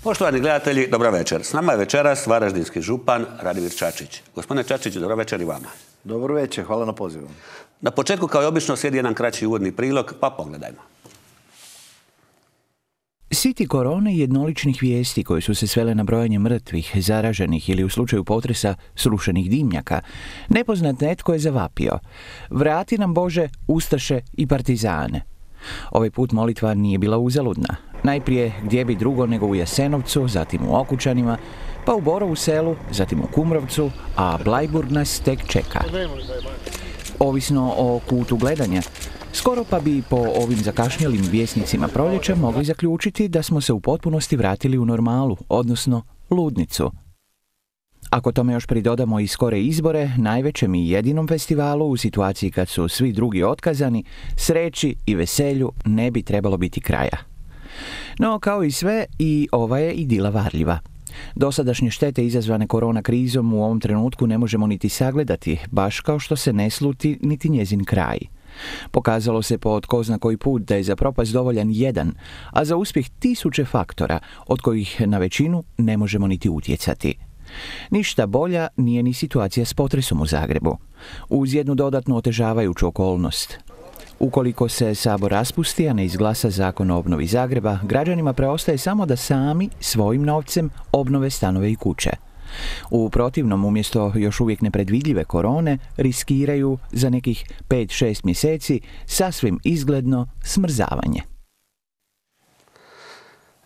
Poštovani gledatelji, dobro večer. S nama je večeras varaždinski župan Radimir Čačić. Gospodine Čačić, dobro večer i vama. Dobro večer, hvala na pozivu. Na početku, kao i obično, slijedi jedan kraći uvodni prilog, pa pogledajmo. Siti korone i jednoličnih vijesti koje su se svele na brojanje mrtvih, zaraženih ili u slučaju potresa srušenih dimnjaka, nepoznat netko je zavapio: vrati nam Bože ustaše i partizane. Ovaj put molitva nije bila uzaludna. Najprije gdje bi drugo nego u Jasenovcu, zatim u Okučanima, pa u Borovu Selu, zatim u Kumrovcu, a Blajburg nas tek čeka. Ovisno o kutu gledanja, skoro pa bi po ovim zakašnjelim vjesnicima proljeća mogli zaključiti da smo se u potpunosti vratili u normalu, odnosno ludnicu. Ako tome još pridodamo i skore izbore, najvećem i jedinom festivalu u situaciji kad su svi drugi otkazani, sreći i veselju ne bi trebalo biti kraja. No, kao i sve, i ova je idila varljiva. Dosadašnje štete izazvane korona krizom u ovom trenutku ne možemo niti sagledati, baš kao što se ne sluti niti njezin kraj. Pokazalo se po tko zna koji put da je za propast dovoljan jedan, a za uspjeh tisuće faktora, od kojih na većinu ne možemo niti utjecati. Ništa bolja nije ni situacija s potresom u Zagrebu, uz jednu dodatnu otežavajuću okolnost. Ukoliko se Sabor raspusti, a ne izglasa zakon o obnovi Zagreba, građanima preostaje samo da sami svojim novcem obnove stanove i kuće. U protivnom, umjesto još uvijek nepredvidljive korone, riskiraju za nekih 5-6 mjeseci sasvim izgledno smrzavanje.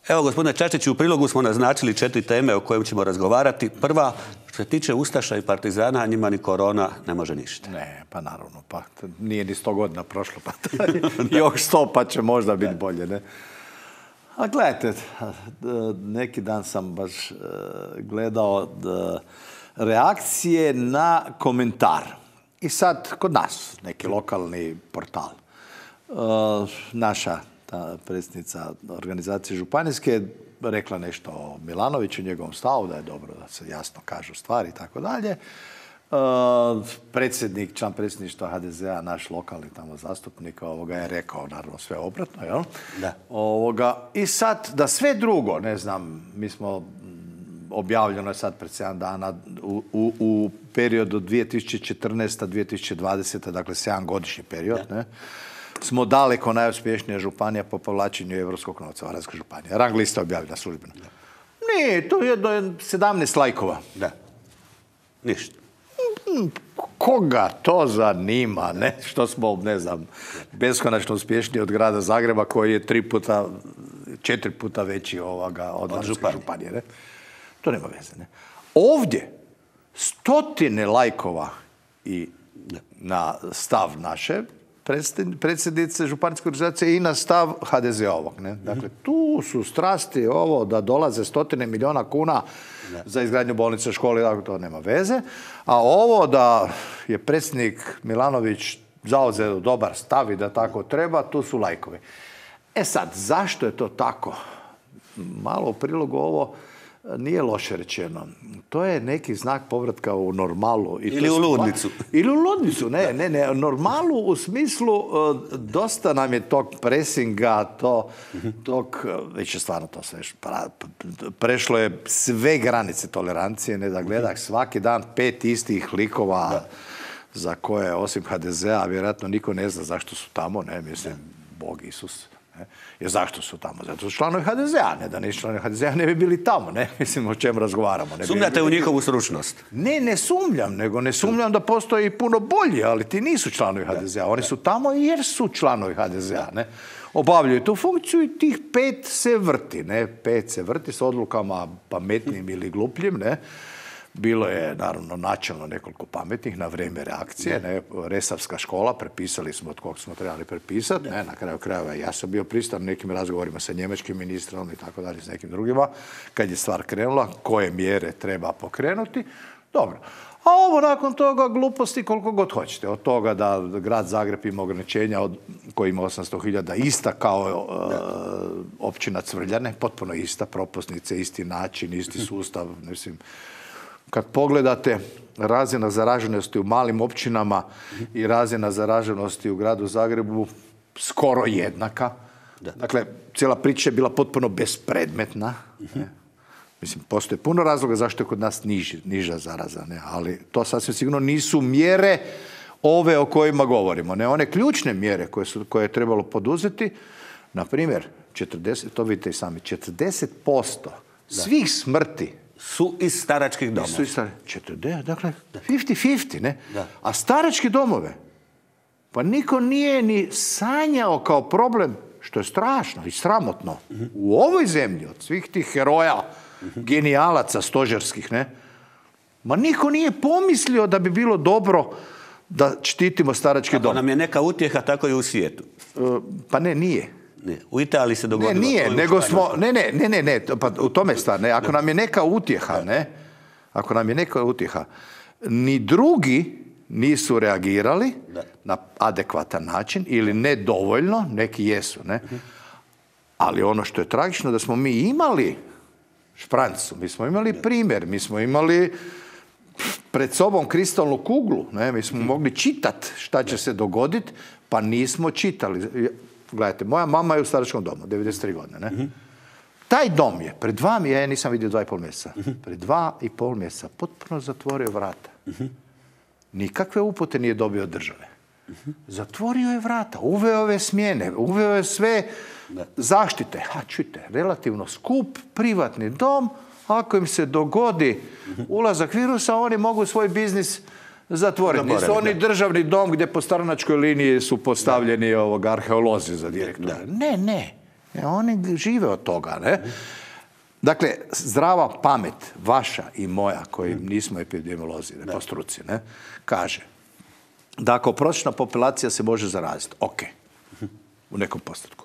Evo, gospodine Čačiću, u prilogu smo naznačili 4 teme o kojim ćemo razgovarati. Prva, što se tiče ustaša i partizana, njima ni korona ne može ništa. Ne, pa naravno, pa nije ni 100 godina prošlo, pa još 100 pa će možda biti bolje, ne? A gledajte, neki dan sam baš gledao reakcije na komentar. I sad, kod nas, neki lokalni portal, naša predsjednica organizacije županijske rekla nešto o Milanoviću, njegovom stavu, da je dobro da se jasno kažu stvari i tako dalje. Predsjednik, član predsjedništva HDZ-a, naš lokalni tamo zastupnik, je rekao naravno sve obratno, jel? Da. I sad, da sve drugo, ne znam, mi smo, objavljeno je sad pred 7 dana, u periodu 2014-2020, dakle 7-godišnji period, ne? Smo daleko najuspješnija županija po povlačenju evropskog novca, Varaždinska županija. Rang lista je objavljena službeno. Ne, to je jedno 17 lajkova. Da. Ništa. Koga to zanima, ne? Što smo, ne znam, beskonačno uspješniji od grada Zagreba, koji je 4 puta veći od Varaždinske županije, ne? To nema veze, ne? Ovdje 100 lajkova i na stav naše predsjednice županijske organizacije i na stav HDZ-ovog. Dakle, tu su strasti ovo da dolaze 100 milijuna kuna za izgradnju bolnice, škole, to nema veze. A ovo da je predsjednik Milanović zauzeo dobar stav i da tako treba, tu su lajkovi. E sad, zašto je to tako? Malo u prilogu ovo nije loše rečeno. To je neki znak povratka u normalu. Ili u ludnicu. Ili u ludnicu, ne. Normalu u smislu dosta nam je tog presinga, već je stvarno to sve prešlo je sve granice tolerancije, ne da gledak svaki dan 5 istih likova za koje, osim HDZ-a, vjerojatno niko ne zna zašto su tamo, ne, mislim, Bog Isus. Jer zašto su tamo? Zato su članovi HDZ-a. Ne da nisu članovi HDZ-a, ne bi bili tamo. Ne mislim o čem razgovaramo. Sumnjate u njihovu stručnost? Ne sumnjam, nego ne sumnjam da postoji puno bolji, ali ti nisu članovi HDZ-a. Oni su tamo jer su članovi HDZ-a. Obavljaju tu funkciju i tih 5 se vrti. 5 se vrti s odlukama pametnim ili glupljim. Bilo je, naravno, načelno nekoliko pametnih na vrijeme reakcije. Resavska škola, prepisali smo od kog smo trebali prepisati. Na kraju krajeva ja sam bio pristan nekim razgovorima sa njemačkim ministrom i tako dalje, s nekim drugima. Kad je stvar krenula, koje mjere treba pokrenuti. Dobro. A ovo nakon toga gluposti koliko god hoćete. Od toga da grad Zagreb ima ograničenja koji ima 800.000, ista kao općina Cvrljane, potpuno ista, propusnice, isti način, isti sustav, mislim. Kad pogledate razina zaraženosti u malim općinama i razina zaraženosti u gradu Zagrebu, skoro jednaka. Dakle, cijela priča je bila potpuno bespredmetna. Mislim, postoje puno razloga zašto je kod nas niža zaraza, ne? Ali to sasvim sigurno nisu mjere ove o kojima govorimo. Ne, one ključne mjere koje je trebalo poduzeti, na primjer, 40, to vidite i sami, 40% svih smrti su iz staračkih domova. Su iz 40, dakle, 50-50, ne? Da. A starački domove, pa niko nije ni sanjao kao problem, što je strašno i sramotno. U ovoj zemlji, od svih tih heroja, genijalaca stožerskih, ne? Ma niko nije pomislio da bi bilo dobro da štitimo starački dom. Ako nam je neka utjeha, tako i u svijetu. Pa ne, nije. U Italiji se dogodilo. Ne, nije, nego smo, ne, pa u tome stvar, ne, ako nam je neka utjeha, ne, ako nam je neka utjeha, ni drugi nisu reagirali na adekvatan način ili nedovoljno, neki jesu, ne, ali ono što je tragično da smo mi imali šprancu, mi smo imali primjer, mi smo imali pred sobom kristalnu kuglu, ne, mi smo mogli čitati šta će se dogoditi, pa nismo čitali. Gledajte, moja mama je u staračkom domu, 93 godine, ne? Taj dom je, ja nisam vidio 2,5 mjeseca, pred 2,5 mjeseca potpuno zatvorio vrata. Nikakve upute nije dobio od države. Zatvorio je vrata, uveo je smjene, uveo je sve zaštite. Čujte, relativno skup, privatni dom, ako im se dogodi ulazak virusa, oni mogu svoj biznis zatvoriti. Nisu oni državni dom gdje po stranačkoj liniji su postavljeni arheolozi za direktora. Ne. Oni žive od toga, ne? Dakle, zdrava pamet, vaša i moja, koji nismo epidemiolozi, po struci, ne, kaže da ako prosječna populacija se može zaraziti, ok, u nekom postotku.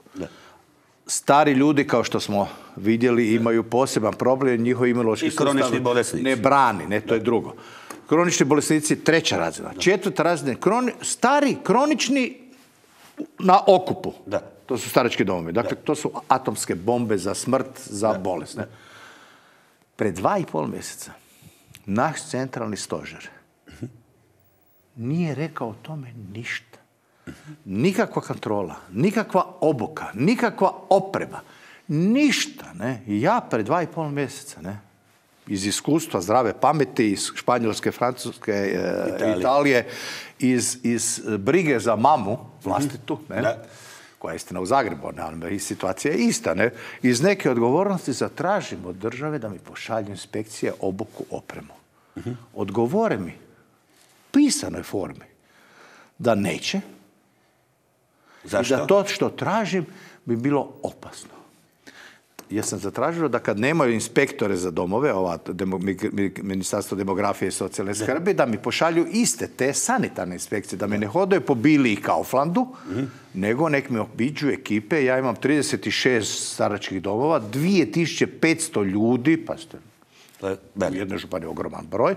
Stari ljudi, kao što smo vidjeli, imaju poseban problem, njihov imunološki sustav ne brani, ne, to je drugo. Kronični bolesnici, 3. razina. 4. razina, stari, kronični na okupu. Da. To su starački domovi. Dakle, to su atomske bombe za smrt, za bolest. Ne? Pred 2,5 mjeseca naš centralni stožer nije rekao o tome ništa. Nikakva kontrola, nikakva obuka, nikakva oprema, ništa. Ne? I ja pred 2,5 mjeseca, ne? Iz iskustva zdrave pameti, iz Španjolske, Francuske, Italije, iz brige za mamu vlastitu, ne? Koja je istina u Zagrebu, ne? I situacija je ista. Ne? Iz neke odgovornosti zatražim od države da mi pošalju inspekcije, obuku, opremu. Odgovore mi pisanoj formi da neće. Zašto? I da to što tražim bi bilo opasno. Ja sam zatražio da kad nemaju inspektore za domove, Ministarstvo demografije i socijalne skrbi, da mi pošalju iste te sanitarne inspekcije, da me ne hodaju po Bili i Kauflandu, nego nek me obiđu ekipe. Ja imam 36 staračkih domova, 2500 ljudi, pa ste u jednoj županiji ogroman broj,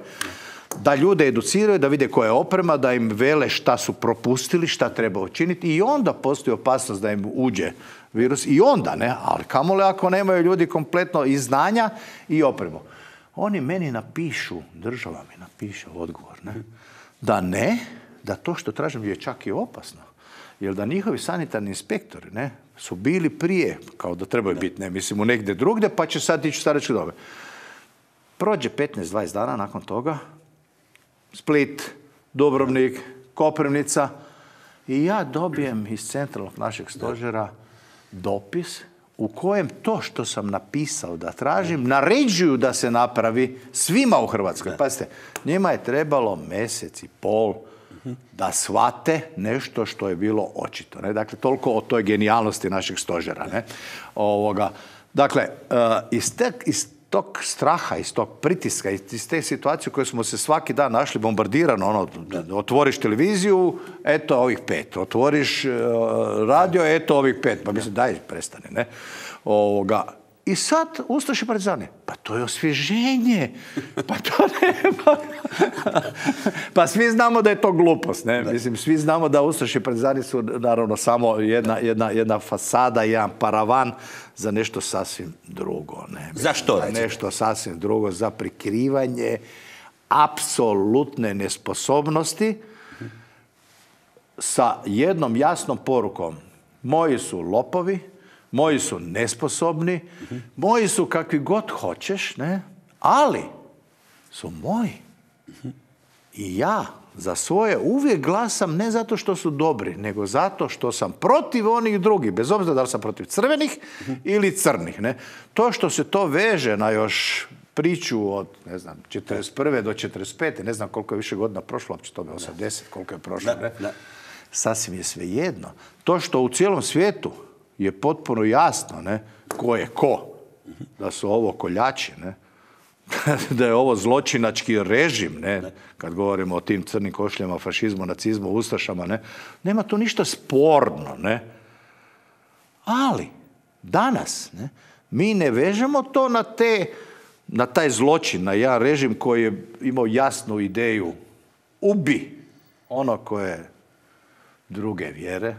da ljude educiraju, da vide koja je oprema, da im vele šta su propustili, šta treba učiniti i onda postoji opasnost da im uđe virus i onda, ne, ali kamole ako nemaju ljudi kompletno i znanja i opremu. Oni meni napišu, država mi napiše odgovor, ne, da to što tražim je čak i opasno. Jer da njihovi sanitarni inspektori, ne, su bili prije, kao da trebaju biti, ne, mislim, u negdje drugdje, pa će sad ići u staračke domove. Prođe 15-20 dana nakon toga, Split, Dubrovnik, Koprivnica i ja dobijem iz centralnog našeg stožera dopis u kojem to što sam napisao da tražim naređuju da se napravi svima u Hrvatskoj. Pazite, njima je trebalo 1,5 mjeseca da shvate nešto što je bilo očito. Ne? Dakle, toliko o toj genijalnosti našeg stožera. Ne? Dakle, iz tog straha, iz tog pritiska, iz te situacije u kojoj smo se svaki dan našli bombardirano, otvoriš televiziju, eto ovih 5, otvoriš radio, eto ovih 5, pa mislim, daj, prestane, ne? I sad, ustaše partizani, pa to je osvježenje, pa to nema. Pa svi znamo da je to glupost, ne? Mislim, svi znamo da ustaše partizani su naravno samo jedna fasada, jedan paravan za nešto sasvim drugo. Ne? Za što? Nešto sasvim drugo, za prikrivanje apsolutne nesposobnosti sa jednom jasnom porukom. Moji su lopovi, moji su nesposobni, moji su kakvi god hoćeš, ne? Ali su moji. I ja za svoje uvijek glasam ne zato što su dobri, nego zato što sam protiv onih drugih, bez obzira da li sam protiv crvenih ili crnih. Ne? To što se to veže na još priču od, ne znam, 41. do 45. Ne znam koliko je više godina prošlo, uopće to je 80, koliko je prošlo. Ne? Sasvim je svejedno. To što u cijelom svijetu je potpuno jasno, ne, ko je ko, da su ovo koljači, ne, da je ovo zločinački režim, ne, kad govorimo o tim crnim košljama, fašizmu, nacizmu, ustašama, ne, nema tu ništa sporno, ne. Ali danas, ne, mi ne vežemo to na taj zločin, na jedan režim koji je imao jasnu ideju, ubi ono koje druge vjere,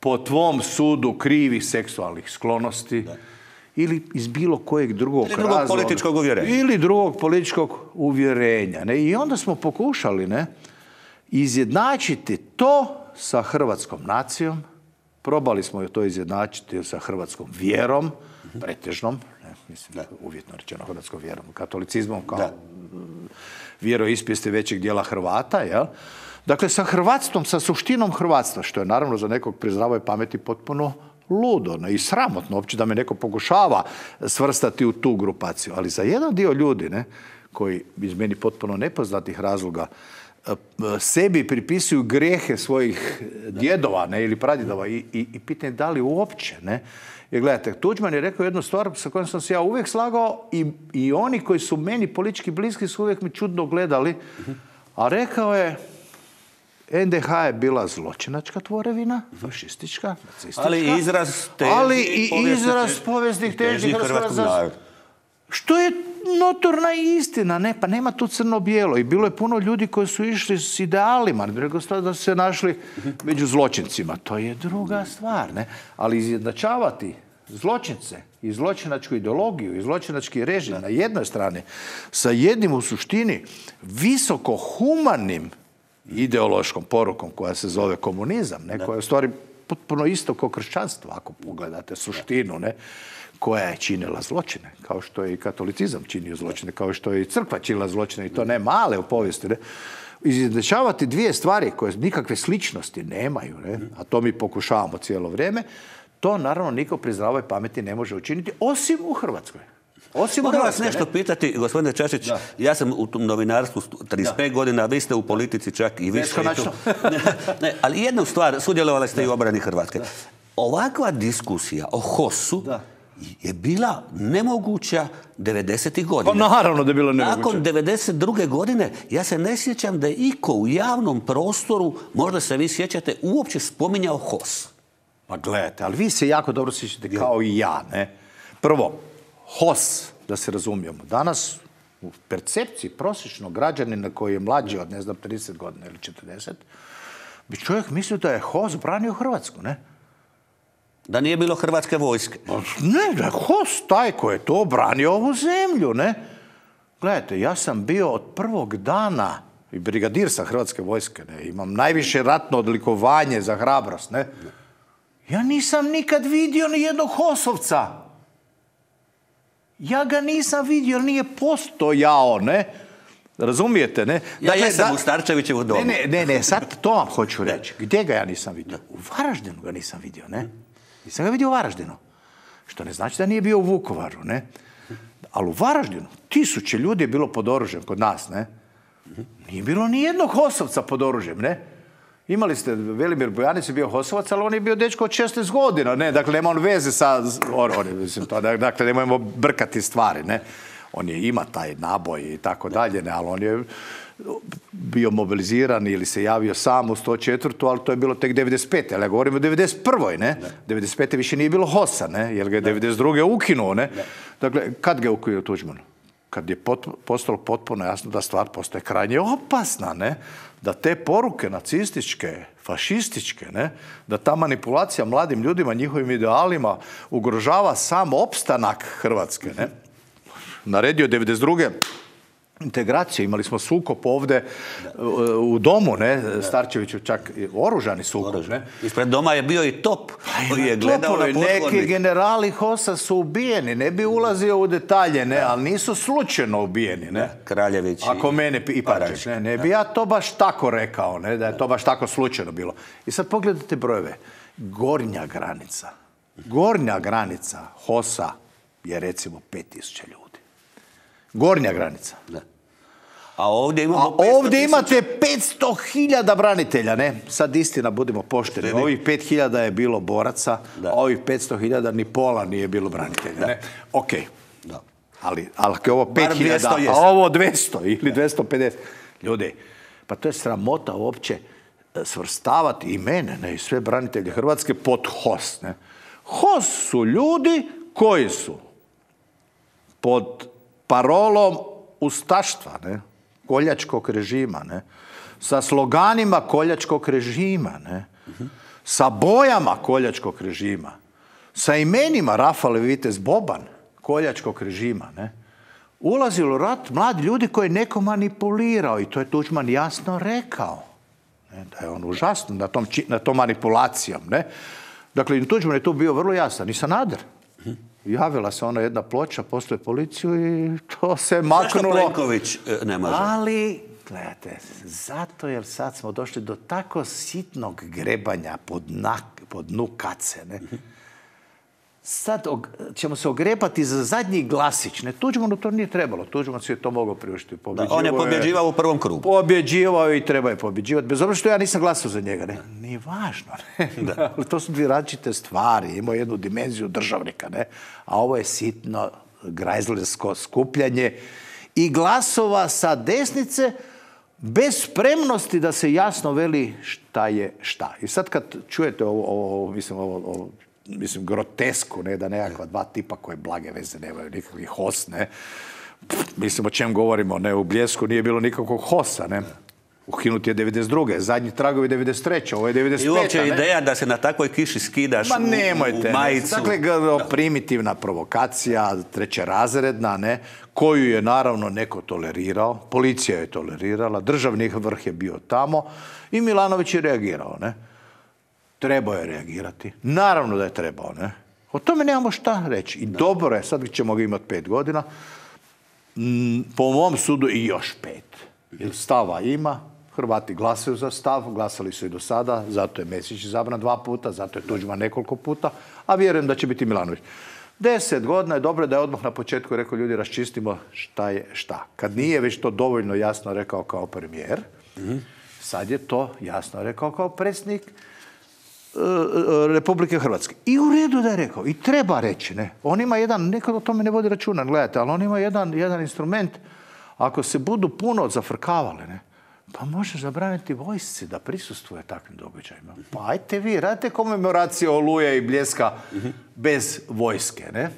po tvom sudu krivih seksualnih sklonosti, ili iz bilo kojeg drugog razloga. Političkog uvjerenja. Ili drugog političkog uvjerenja. Ne? I onda smo pokušali, ne, izjednačiti to sa hrvatskom nacijom. Probali smo to izjednačiti sa hrvatskom vjerom, pretežnom, ne, mislim, uvjetno rečeno hrvatskom vjerom, katolicizmom kao vjeroispovijesti većeg dijela Hrvata, jel? Dakle, sa hrvatstvom, sa suštinom hrvatstva, što je naravno za nekog pri zdravoj pameti potpuno ludo, ne, i sramotno uopće da me neko pokušava svrstati u tu grupaciju. Ali za jedan dio ljudi, ne, koji iz meni potpuno nepoznatih razloga sebi pripisuju grijehe svojih djedova, ne, ili pradjedova i pitanje da li uopće, ne. Jer gledajte, Tuđman je rekao jednu stvar sa kojom sam se ja uvijek slagao i oni koji su meni politički bliski su uvijek mi čudno gledali, a rekao je NDH je bila zločinačka tvorevina, fašistička, nacistička, ali izraz povijesnih težnji hrvatskog naroda. Što je notorna istina, ne, pa nema tu crno-bijelo. I bilo je puno ljudi koji su išli s idealima, da su se našli među zločincima. To je druga stvar, ne? Ali izjednačavati zločince i zločinačku ideologiju i zločinački režim na jednoj strani sa jednim u suštini visoko humanim ideološkom porukom koja se zove komunizam, ne, koja je u stvari potpuno isto kao kršćanstvo, ako pogledate suštinu, ne, koja je činila zločine, kao što je i katolicizam činio zločine, kao što je i crkva činila zločine, i to ne male u povijesti. Ne. Izjednačavati dvije stvari koje nikakve sličnosti nemaju, ne, a to mi pokušavamo cijelo vrijeme, to naravno niko pri zdravoj pameti ne može učiniti, osim u Hrvatskoj. Mogu vas nešto pitati, gospodine Čačić, ja sam u tom novinarstvu 35 godina, vi ste u politici čak i više. Ne, ali jednu stvar, sudjelovali ste i u obrani Hrvatske. Ovakva diskusija o HOS-u je bila nemoguća 90. godina. Pa naravno da je bila nemoguća. Nakon 92. godine, ja se ne sjećam da je iko u javnom prostoru, možda se vi sjećate, uopće spominjao HOS. Pa gledajte, ali vi se jako dobro sjećate kao i ja, ne? Prvo, HOS, da se razumijemo, danas u percepciji prosječnog građanina koji je mlađi od, ne znam, 30 godina ili 40, bi čovjek mislio da je HOS branio Hrvatsku, ne? Da nije bilo hrvatske vojske. Ne, da je HOS taj koji je to branio ovu zemlju, ne? Gledajte, ja sam bio od prvog dana i brigadir sa hrvatske vojske, ne? Imam najviše ratno odlikovanje za hrabrost, ne? Ja nisam nikad vidio ni jednog HOS-ovca. Ja ga nisam vidio, nije postojao, ne? Razumijete, ne? Ja jesam u Starčevićevu domu. Ne, sad to vam hoću reći. Gdje ga ja nisam vidio? U Varaždinu ga nisam vidio, ne? Nisam ga vidio u Varaždinu. Što ne znači da nije bio u Vukovaru, ne? Ali u Varaždinu 1000 ljudi je bilo pod oružjem kod nas, ne? Nije bilo ni jednog HOS-ovca pod oružjem, ne? Imali ste, Velimir Bojanić je bio HOS-ovac, ali on je bio dečko od 16 godina, ne? Dakle, nema on veze sa... Dakle, nemojmo brkati stvari, ne? On ima taj naboj i tako dalje, ne? Ali on je bio mobiliziran ili se javio sam u 104. ali to je bilo tek 95. Ali ja govorim o 91. ne? 95. više nije bilo HOS-a, ne? Jer ga je 92. ukinuo, ne? Dakle, kad ga je ukinuo Tuđman? Kad je postalo potpuno jasno da stvar postaje krajnje opasna, ne? Da te poruke nacističke, fašističke, ne? Da ta manipulacija mladim ljudima, njihovim idealima ugrožava sam opstanak Hrvatske, ne? Naredio 92. integraciju. Imali smo sukob ovdje u domu, ne? Starčeviću čak oružani sukob. Ne? Ispred doma je bio i top koji je gledao na potvornik. Neki generali HOS-a su ubijeni. Ne bi ulazio u detalje, ne? Ali nisu slučajno ubijeni. Ne? Kraljević ako mene i Paračić. Ne bi ja to baš tako rekao, ne? Da je to baš tako slučajno bilo. I sad pogledajte brojeve. Gornja granica HOS-a je recimo 5000 ljudi. Gornja granica. Da. A ovdje imamo ovdje imate 500.000 branitelja, ne? Sad istina, budimo pošteni. Ovih 5.000 je bilo boraca, a ovih 500.000 ni pola nije bilo branitelja, ne? Ok. Da. Ali ako je ovo 5.000, a ovo 200 ili 250. Ljudi, pa to je sramota uopće svrstavati i mene, ne, i sve branitelje Hrvatske pod HOS, ne? HOS su ljudi koji su pod parolom ustaštva, ne? Koljačkog režima, ne? Sa sloganima koljačkog režima, ne? Sa bojama koljačkog režima, sa imenima Rafale Vitez Boban koljačkog režima, ne? Ulazili u rat mladi ljudi koji je neko manipulirao i to je Tuđman jasno rekao, ne? Da je on užasno na tom manipulacijom, ne? Dakle, Tuđman je tu bio vrlo jasan i Sanader. Javila se ona jedna ploča, poslije policiju i to se maknulo. Zašto Plenković ne može? Ali, gledajte, zato jer sad smo došli do tako sitnog grebanja pod dnu kace, ne? Sad ćemo se ogrebati za zadnji glasić, ne? Tuđmanu to nije trebalo. Tuđman si je to mogao priuštiti. On je pobjeđivao u prvom krugu. Pobjeđivao i treba je pobjeđivati. Bez obzira što ja nisam glasao za njega, ne? Nije važno, ne? Ali to su dvije različite stvari. Imao jednu dimenziju državnika, ne? A ovo je sitno grajzlersko skupljanje i glasova sa desnice bez spremnosti da se jasno veli šta je šta. I sad kad čujete ovo grotesku, ne, da nekakva dva tipa koje blage veze nemaju nikakvih HOS, ne. Mislim o čem govorimo, ne, u Bljesku nije bilo nikakvog HOS-a, ne. Ukinut je 92. Zadnji tragovi 93. Ovo je 95. I uopće ideja da se na takvoj kiši skidaš u majicu. Dakle, primitivna provokacija, trećerazredna, ne, koju je naravno neko tolerirao, policija je tolerirala, državni vrh je bio tamo i Milanović je reagirao, ne. Trebao je reagirati. Naravno da je trebao, ne. O tome nemamo šta reći. I dobro je, sad ćemo ga imati 5 godina. Po mom sudu i još 5. Jer stava ima, Hrvati glasaju za stav, glasali su i do sada, zato je Mesić izabran 2 puta, zato je Tuđman nekoliko puta, a vjerujem da će biti Milanović. 10 godina je dobro da je odmah na početku rekao ljudi raščistimo šta je šta. Kad nije već to dovoljno jasno rekao kao premijer, sad je to jasno rekao kao predsjednik Republike Hrvatske. I u redu da je rekao. I treba reći, ne. On ima jedan, nekad o tome ne vodi računa, gledajte, ali on ima jedan instrument, ako se budu puno zafrkavali, ne, pa može zabraniti vojsci da prisustvuje takvim događajima. Pa ajte vi, radite komemoraciju Oluje i Bljeska bez vojske, ne.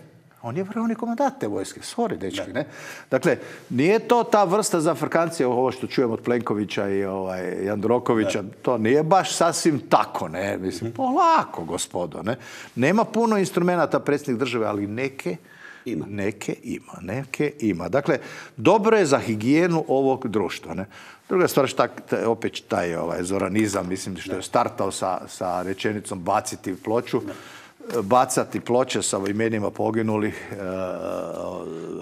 On je vrhovni komandant te vojske. Sorry, dečki, ne. Dakle, nije to ta vrsta zafrkancije, ovo što čujem od Plenkovića i Jandrokovića, to nije baš sasvim tako, ne. Mislim, polako, gospodo, ne. Nema puno instrumenta predsjednik države, ali neke ima. Dakle, dobro je za higijenu ovog društva, ne. Druga stvar, opet taj zoranizam, mislim, što je startao sa rečenicom baciti ploču. Bacati ploče sa imenima poginulih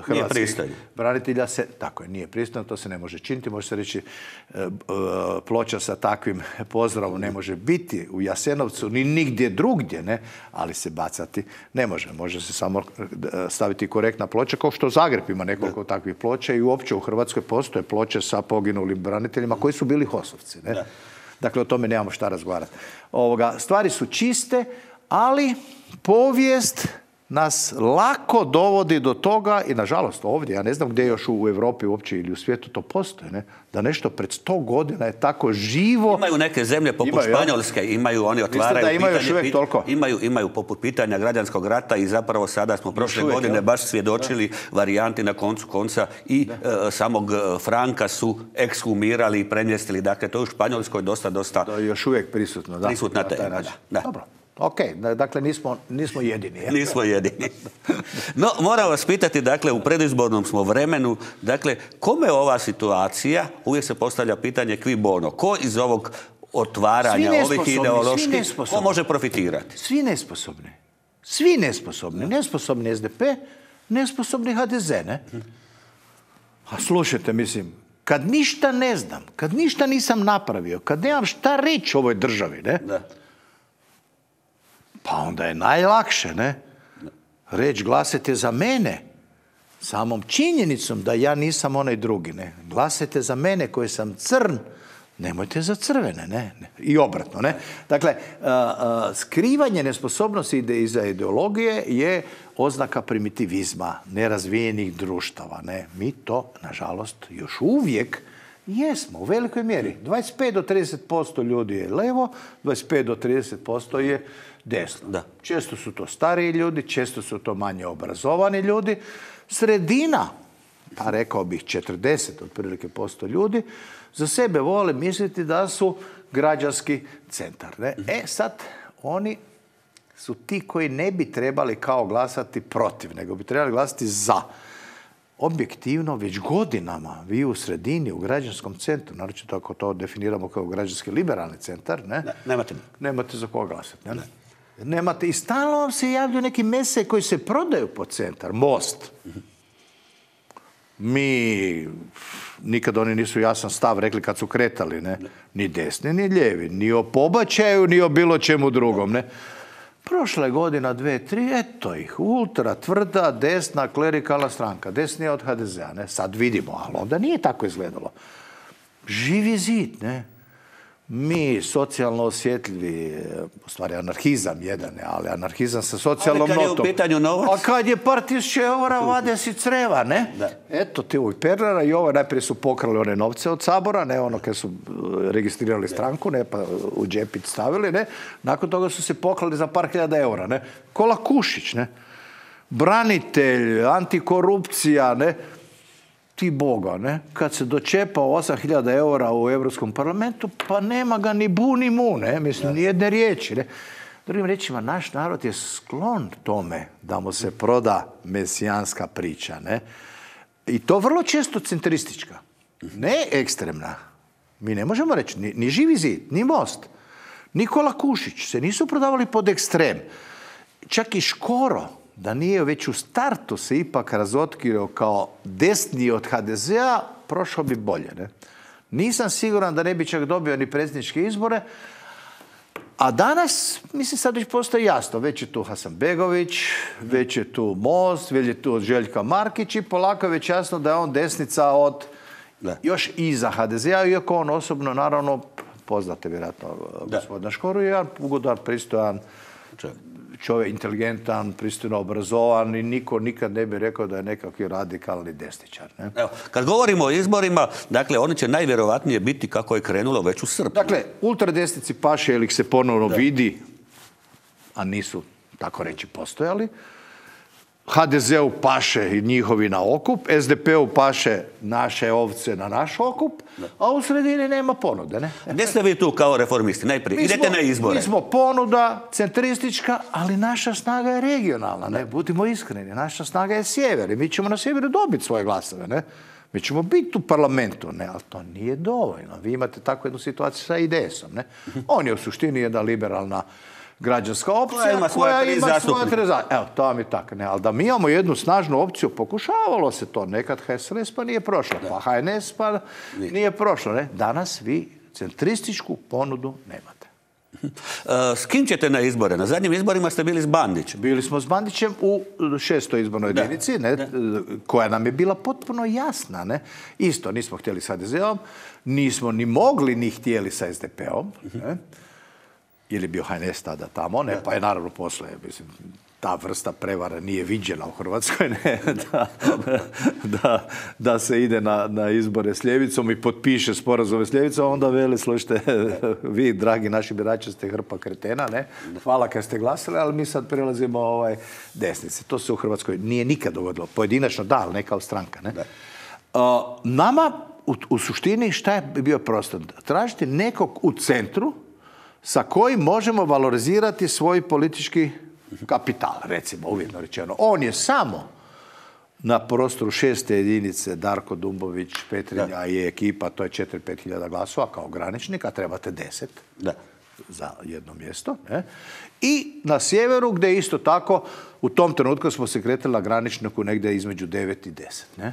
hrvatskih branitelja se, tako je, nije pristojno, to se ne može činiti, može se reći ploča sa takvim pozdravom ne može biti u Jasenovcu ni nigdje drugdje, ne, ali se bacati ne može. Može se samo staviti korektna ploča, kao što Zagreb ima nekoliko takvih ploča i uopće u Hrvatskoj postoje ploče sa poginulim braniteljima koji su bili HOS-ovci, ne. Dakle, o tome nemamo šta razgovarati. Stvari su čiste, ali povijest nas lako dovodi do toga i nažalost ovdje, ja ne znam gdje još u Europi uopće ili u svijetu to postoji, ne? Da nešto pred 100 godina je tako živo. Imaju neke zemlje poput Španjolske, imaju, oni otvaraju imaju poput pitanja građanskog rata i zapravo sada smo prošle godine baš svjedočili varijanti na koncu konca i samog Franka su ekshumirali i premjestili. Dakle, to je u Španjolskoj dosta... To je još uvijek prisutno, da. Prisutna tema, da. Dobro. Ok, dakle nismo jedini. Nismo jedini. No, moram vas pitati, dakle, u predizbornom smo vremenu, dakle, kome ova situacija, uvijek se postavlja pitanje qui bono, ko iz ovog otvaranja ovih ideoloških, ko može profitirati? Svi nesposobni. Svi nesposobni. Nesposobni SDP, nesposobni HDZ, ne? A slušajte, mislim, kad ništa ne znam, kad ništa nisam napravio, kad nemam šta reći ovoj državi, ne? Da. Pa onda je najlakše, ne? Reći glasajte za mene, samom činjenicom da ja nisam onaj drugi, ne? Glasajte za mene koji sam crn, nemojte za crvene, ne? I obratno, ne? Dakle, skrivanje nesposobnosti iza ideologije je oznaka primitivizma, nerazvijenih društava, ne? Mi to, nažalost, još uvijek jesmo, u velikoj mjeri. 25 do 30% ljudi je levo, 25 do 30% je desno. Da. Često su to stariji ljudi, često su to manje obrazovani ljudi. Sredina, pa rekao bih 40 otprilike posto ljudi, za sebe vole misliti da su građanski centar. Ne? Sad, oni su ti koji ne bi trebali kao glasati protiv, nego bi trebali glasati za. Objektivno, već godinama vi u sredini, u građanskom centru, naročito ako to definiramo kao građanski liberalni centar, ne? Nemate za koga glasati. Ne? Nemate. I stalno vam se javljaju neki mese koji se prodaju po centar. Most. Mi, nikad oni nisu jasan stav rekli kad su kretali, ne? Ni desni, ni lijevi. Ni o pobačaju, ni o bilo čemu drugom, ne? Prošla je godina, 2, 3, eto ih, ultra tvrda, desna, klerikalna stranka, desnija od HDZ-a, ne? Sad vidimo, ali onda nije tako izgledalo. Živi zid, ne? Mi, socijalno osjetljivi, u stvari anarhizam jedan, ali anarhizam sa socijalnom notom. Ali kad je u pitanju novac? A kad je par tisuća eura, vade si creva, ne? Da. Eto ti ovih Pernara i ovo najprije su pokrali one novce od Sabora, ne ono kad su registrirali stranku, ne, pa u džepić stavili, ne? Nakon toga su se pokrali za par hiljada eura, ne? Kola Kušić, ne? Branitelj, antikorupcija, ne? Ti Boga, ne? Kad se dočepao 8.000 eura u Europskom parlamentu, pa nema ga ni bu ni mu, ne? Mislim, ni jedne riječi, ne? Drugim riječima, naš narod je sklon tome da mu se proda mesijanska priča, ne? I to vrlo često centristička, ne ekstremna. Mi ne možemo reći, ni Živi zid, ni Most, Nikola Kušić se nisu prodavali pod ekstrem. Čak i Škoro, da nije već u startu se ipak razotkrio kao desniji od HDZ-a, prošao bi bolje. Ne? Nisam siguran da ne bi čak dobio ni predsjedničke izbore, a danas, mislim, sad već postoji jasno. Već je tu Hasanbegović, već je tu Most, već je tu Željka Markić i polako je već jasno da je on desnica od još iza HDZ-a, iako on osobno, naravno, poznate vjerojatno gospodina Škoru, je jedan ugodan, pristojan čovjek, inteligentan, pristojno obrazovan i niko nikad ne bi rekao da je nekakvi radikalni desničar. Ne? Evo, kad govorimo o izborima, dakle, oni će najvjerovatnije biti kako je krenulo već u srpnju. Dakle, ultradesnici paše ili ih se ponovno vidi, a nisu, tako reći, postojali. HDZ-u paše i njihovi na okup, SDP-u paše naše ovce na naš okup, a u sredini nema ponude. Ne? Gdje ste vi tu kao reformisti? Najprije, idete na izbore. Mi smo ponuda centristička, ali naša snaga je regionalna. Ne? Budimo iskreni, naša snaga je sjever i mi ćemo na sjeveru dobiti svoje glasove. Ne? Mi ćemo biti u parlamentu, ne, ali to nije dovoljno. Vi imate takvu jednu situaciju sa IDS-om. Ne? On je u suštini jedna liberalna građanska opcija koja ima svoja tri zastupnika. Evo, to vam je tako. Ne, ali da mi imamo jednu snažnu opciju, pokušavalo se to nekad HSLS, pa nije prošlo. Pa HNS, pa nije prošlo. Ne? Danas vi centrističku ponudu nemate. S kim ćete na izbore? Na zadnjim izborima ste bili s Bandićem. Bili smo s Bandićem u 6. izbornoj jedinici, koja nam je bila potpuno jasna. Ne? Isto, nismo htjeli s HDZ-om, nismo ni mogli ni htjeli sa SDP-om. Jer je bio HNS tada tamo, ne? Pa je naravno posle, mislim, ta vrsta prevara nije viđena u Hrvatskoj, ne? Da se ide na izbore s ljevicom i potpiše sporazume s ljevicom, onda veli, slušajte, vi, dragi naši birači, ste hrpa kretena, ne? Hvala kad ste glasili, ali mi sad prelazimo desnice. To se u Hrvatskoj nije nikad dogodilo. Pojedinačno da, ali ne kao stranka, ne? Nama, u suštini, šta je bio prostor? Tražiti nekog u centru sa kojim možemo valorizirati svoj politički kapital, recimo, uvjetno rečeno. On je samo na prostoru 6. jedinice Darko Dumbović, Petrinja i ekipa, to je 4-5 hiljada glasova kao graničnik, a trebate 10 za jedno mjesto. Ne? I na sjeveru, gdje isto tako, u tom trenutku smo se kretali na graničniku negdje između 9 i 10. Ne?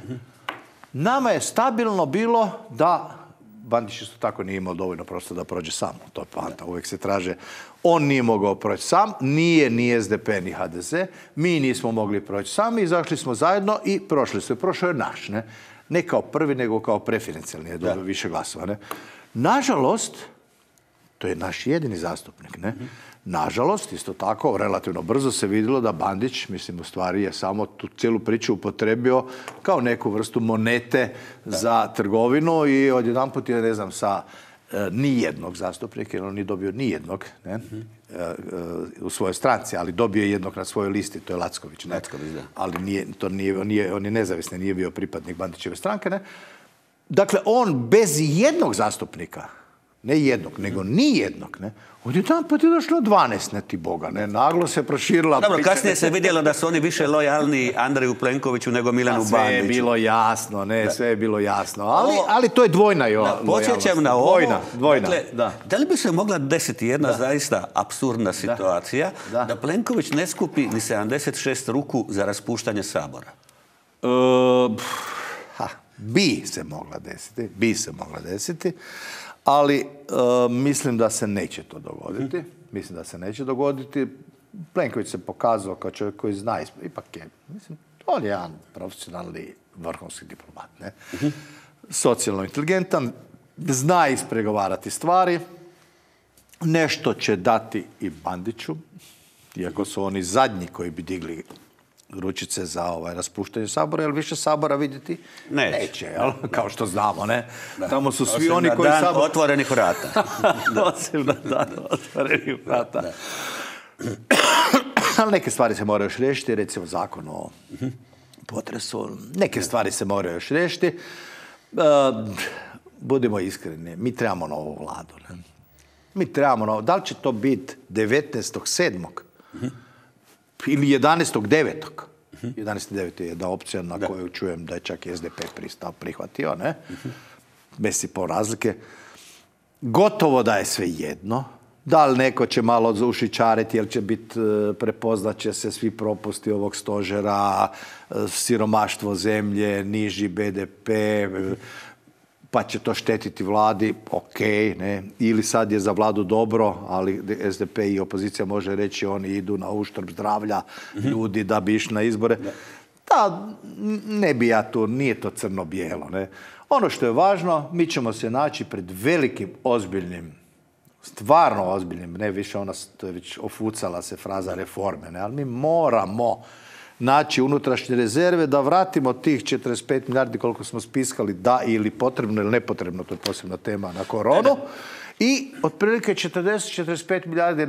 Nama je stabilno bilo da Bandić isto tako nije imao dovoljno prostora da prođe sam. To je poanta. Uvijek se traže. On nije mogao proći sam, nije ni SDP ni HDZ. Mi nismo mogli proći sami, izašli smo zajedno i prošli su. Prošao je naš. Ne kao prvi, nego kao preferencijalni. Je dobio više glasova. Ne? Nažalost, to je naš jedini zastupnik. Ne? Nažalost, isto tako, relativno brzo se vidjelo da Bandić, mislim, u stvari je samo tu cijelu priču upotrebio kao neku vrstu monete za trgovinu i odjedanput je, ne znam, sa nijednog zastupnika, jer on nije dobio nijednog u svojoj stranci, ali dobio je jednog na svojoj listi, to je Lacković. Ali on je nezavisni, nije bio pripadnik Bandićeve stranke. Ne? Dakle, on bez jednog zastupnika, ne jednog, nego nijednog, ne? Odjedanput je došlo 12, ne ti Boga, ne? Naglo se proširila... Dobro, kasnije se vidjelo da su oni više lojalni Andreju Plenkoviću nego Milanu Bandiću. Sve je bilo jasno, ne, sve je bilo jasno. Ali to je dvojna lojalnost. Podsjećam na ovo. Dvojna, dakle, da li bi se mogla desiti jedna zaista apsurdna situacija da Plenković ne skupi ni 76 ruku za raspuštanje Sabora? Bi se mogla desiti. Ali mislim da se neće to dogoditi. Plenković se pokazao kao čovjek koji zna, ipak je, mislim, on je jedan profesionalni vrhunski diplomat, ne? Socijalno inteligentan, zna ispregovarati stvari, nešto će dati i Bandiću, iako su oni zadnji koji bi digli ručice za raspuštanje Sabora, jer više Sabora vidjeti neće, jel? Kao što znamo, ne? Tamo su svi oni koji Sabor... Osim na dan otvorenih vrata. Osim na dan otvorenih vrata. Ali neke stvari se moraju još riješiti, recimo zakon o potresu. Neke stvari se moraju još riješiti. Budimo iskreni, mi trebamo novu vladu. Ne? Mi trebamo novu. Da li će to biti 19.7. ili 11.9. 11.9. je jedna opcija na koju čujem da je čak i SDP prihvatio, ne? Bez i po razlike. Gotovo da je sve jedno. Da li neko će malo ušićariti, jer će biti, prepoznat će se svi propusti ovog stožera, siromaštvo zemlje, niži BDP, pa će to štetiti vladi, ok, ne, ili sad je za vladu dobro, ali SDP i opozicija može reći oni idu na uštrb zdravlja ljudi da bi išli na izbore. Da, ne bi ja tu, nije to crno-bijelo, ne. Ono što je važno, mi ćemo se naći pred velikim, ozbiljnim, stvarno ozbiljnim, ne više ona, to je već ofucala se fraza reforme, ne, ali mi moramo naći unutrašnje rezerve da vratimo tih 45 milijardi koliko smo spiskali, da ili potrebno ili nepotrebno, to je posebna tema, na koronu, i otprilike 40-45 milijardi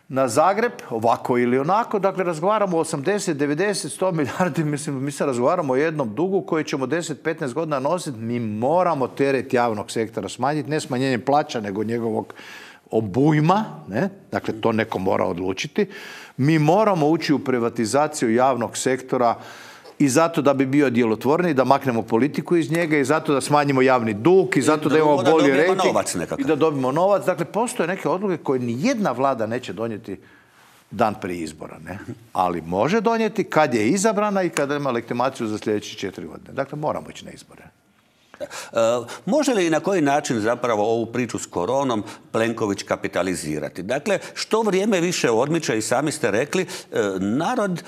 na Zagreb, ovako ili onako. Dakle, razgovaramo o 80, 90, 100 milijardi, mislim, mi se razgovaramo o jednom dugu koji ćemo 10-15 godina nositi. Mi moramo teret javnog sektora smanjiti, ne smanjenjem plaća, nego njegovog obujma, ne? Dakle, to neko mora odlučiti. Mi moramo ući u privatizaciju javnog sektora i zato da bi bio djelotvorniji, da maknemo politiku iz njega, i zato da smanjimo javni dug, i zato da imamo bolji rejting i da dobijemo novac. Dakle, postoje neke odluke koje nijedna vlada neće donijeti dan prije izbora, ne? Ali može donijeti kad je izabrana i kada ima legitimaciju za sljedeće 4 godine. Dakle, moramo ići na izbore. Može li i na koji način zapravo ovu priču s koronom Plenković kapitalizirati? Dakle, što vrijeme više odmiče, i sami ste rekli, narod,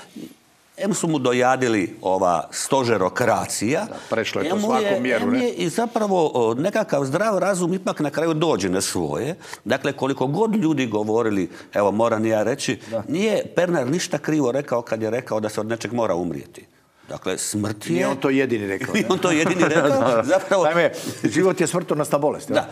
em su mu dojadili ova stožerokracija, prešlo je to svaku mjeru, ne? I zapravo nekakav zdrav razum ipak na kraju dođe na svoje. Dakle, koliko god ljudi govorili, evo moram ja reći, nije Pernar ništa krivo rekao kad je rekao da se od nečeg mora umrijeti. Dakle, smrt je... Nije on to jedini rekao. Nije on to jedini rekao. Zapravo... Naime, život je smrtonosna bolest. Da.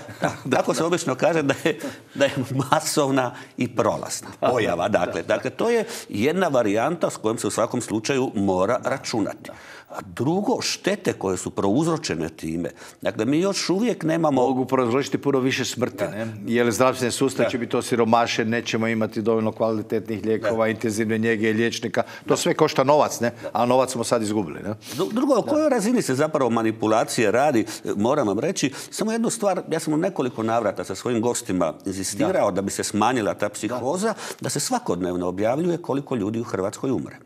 Tako se obično kaže da je masovna i prolazna pojava. Dakle, to je jedna varijanta s kojom se u svakom slučaju mora računati. A drugo, štete koje su prouzročene time. Dakle, mi još uvijek nemamo... Mogu prouzročiti puno više smrti, ne? Jer zdravstveni sustav će biti osiromašen, nećemo imati dovoljno kvalitetnih lijekova, intenzivne njege, liječnika. To sve košta novac, ne? A novac smo sad izgubili, ne? Drugo, o kojoj razini se zapravo manipulacije radi, moram vam reći, samo jednu stvar, ja sam u nekoliko navrata sa svojim gostima inzistirao da bi se smanjila ta psihoza, da se svakodnevno objavljuje koliko ljudi u Hrvatskoj umre.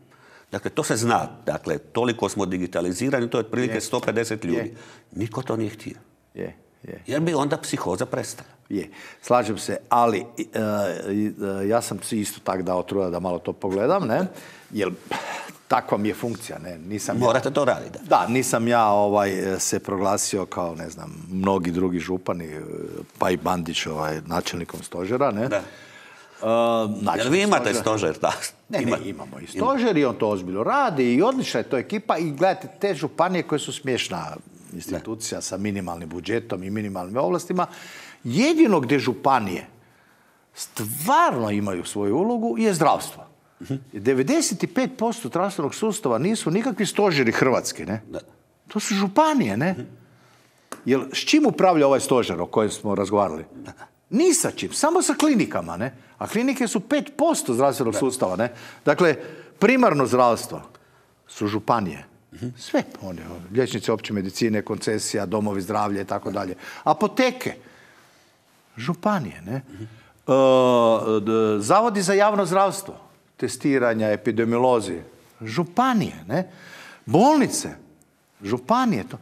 Dakle, to se zna. Dakle, toliko smo digitalizirani, to je otprilike 150 ljudi. Niko to nije htio. Jer bi onda psihoza prestala. Slažem se, ali ja sam si isto tak dao truda da malo to pogledam, ne? Jer takva mi je funkcija, ne? Morate to raditi. Da, nisam ja se proglasio kao, ne znam, mnogi drugi župani, pa i Bandić načelnikom stožera, ne? Da. Jer vi imate stožer, da? Ne, imamo i stožer i on to ozbiljno radi i odlična je to ekipa i gledajte, te županije koje su smiješna institucija sa minimalnim budžetom i minimalnim ovlastima, jedino gdje županije stvarno imaju svoju ulogu je zdravstvo. 95% zdravstvenog sustava nisu nikakvi stožeri Hrvatske, ne? To su županije, ne? Jer s čim upravlja ovaj stožer o kojem smo razgovarali? Ni sa čim, samo sa klinikama, ne? A klinike su 5% zdravstvenog sustava, ne? Dakle, primarno zdravstvo su županije. Sve, liječnici opće medicine, koncesija, domovi zdravlja i tako dalje. Apoteke, županije, ne? Zavodi za javno zdravstvo, testiranja, epidemiolozi, županije, ne? Bolnice, županije, to.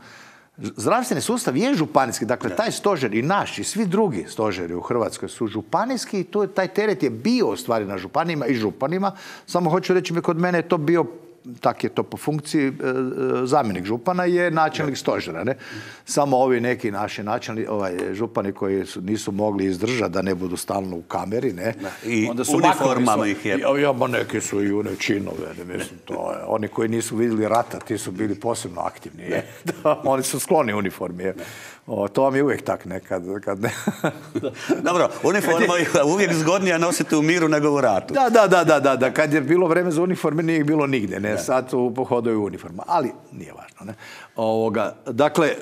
Zdravstveni sustav je županijski, dakle taj stožer i naš i svi drugi stožeri u Hrvatskoj su županijski i taj teret je bio u stvari na županijima i županima, samo hoću reći kod mene je to bio, tak je to po funkciji, zamjenik župana je načelnik stožera, ne? Samo ovi neki naši župani koji nisu mogli izdržati da ne budu stalno u kameri, ne? I uniformama ih je. Neki su i une činove, mislim, to je. Oni koji nisu vidjeli rata, ti su bili posebno aktivni, je. Oni su skloni uniformi, je. To vam je uvijek tak nekad. Dobro, uniforma je uvijek zgodnija nositi u miru nego u ratu. Da. Kad je bilo vreme za uniforme, nije ih bilo nigdje, ne? Sad u pohodu je uniforma, ali nije važno, ne? Dakle,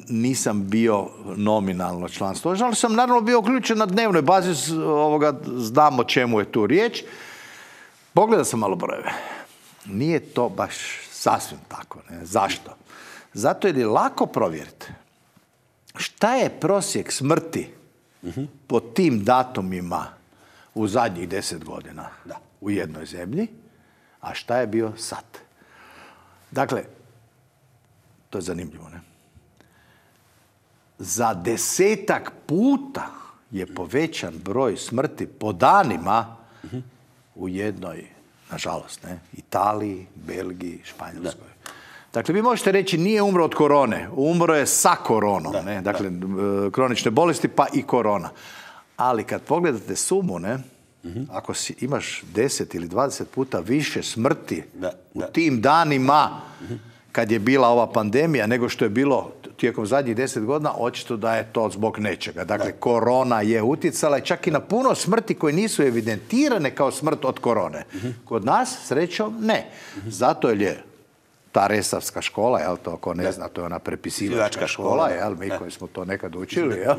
nisam bio nominalno član stožera, ali sam naravno bio uključen na dnevnoj bazi, znam o čemu je tu riječ. Pogledao sam malo brojeve. Nije to baš sasvim tako, ne? Zašto? Zato jer je lako provjeriti šta je prosjek smrti po tim datumima u zadnjih 10 godina u jednoj zemlji, a šta je bio sad. Dakle, to je zanimljivo, ne? Za 10 puta je povećan broj smrti po danima u jednoj, nažalost, ne? Italiji, Belgiji, Španjolskoj. Dakle, vi možete reći nije umro od korone, umro je sa koronom, ne? Dakle, kronične bolesti pa i korona. Ali kad pogledate sumu, ne? Ako imaš 10 ili 20 puta više smrti u tim danima kad je bila ova pandemija nego što je bilo tijekom zadnjih 10 godina, očito da je to zbog nečega. Dakle, korona je utjecala čak i na puno smrti koje nisu evidentirane kao smrt od korone. Kod nas, srećom, ne. Zato je ta resavska škola, jel, to ko ne zna, to je ona prepisivačka škola, jel, mi koji smo to nekad učili, jel,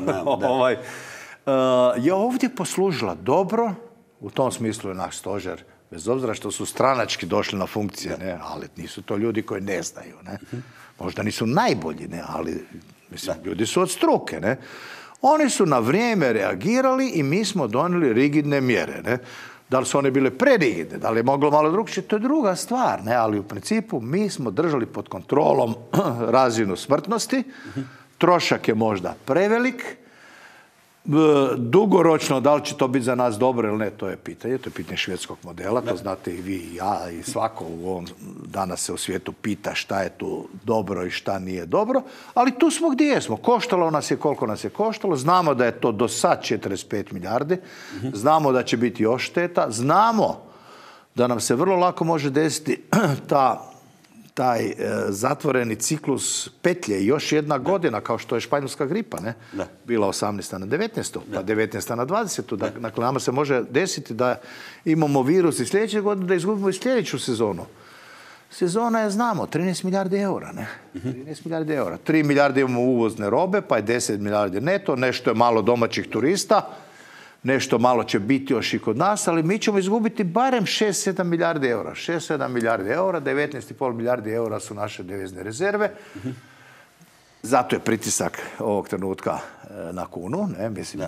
je ovdje poslužila dobro, u tom smislu je naš stožer, bez obzira što su stranački došli na funkcije, ne, ali nisu to ljudi koji ne znaju, ne. Možda nisu najbolji, ne, ali mislim, ljudi su od struke, ne. Oni su na vrijeme reagirali i mi smo donijeli rigidne mjere, ne. Da li su one bile prerigidne, da li je moglo malo drugčije, to je druga stvar, ne, ali u principu mi smo držali pod kontrolom razinu smrtnosti, trošak je možda prevelik, dugoročno, da li će to biti za nas dobro ili ne, to je pitanje švedskog modela, to znate i vi i ja i svako u ovom danas se u svijetu pita šta je tu dobro i šta nije dobro, ali tu smo gdje jesmo. Koštalo nas je koliko nas je koštalo, znamo da je to do sad 45 milijardi, znamo da će biti još šteta, znamo da nam se vrlo lako može desiti taj zatvoreni ciklus petlje i još jedna godina, kao što je španjolska gripa, ne? Bila 18. na 19. pa 19. na 20. Dakle, nama se može desiti da imamo virus i sljedeće godine, da izgubimo i sljedeću sezonu. Sezona je, znamo, 13 milijardi eura, ne? 13 milijardi eura. 3 milijarde imamo uvozne robe, pa je 10 milijardi neto, nešto je malo domaćih turista, nešto malo će biti još i kod nas, ali mi ćemo izgubiti barem 6-7 milijardi eura. 6-7 milijardi eura, 19,5 milijardi eura su naše devizne rezerve. Zato je pritisak ovog trenutka na kunu. Ne? Mislim,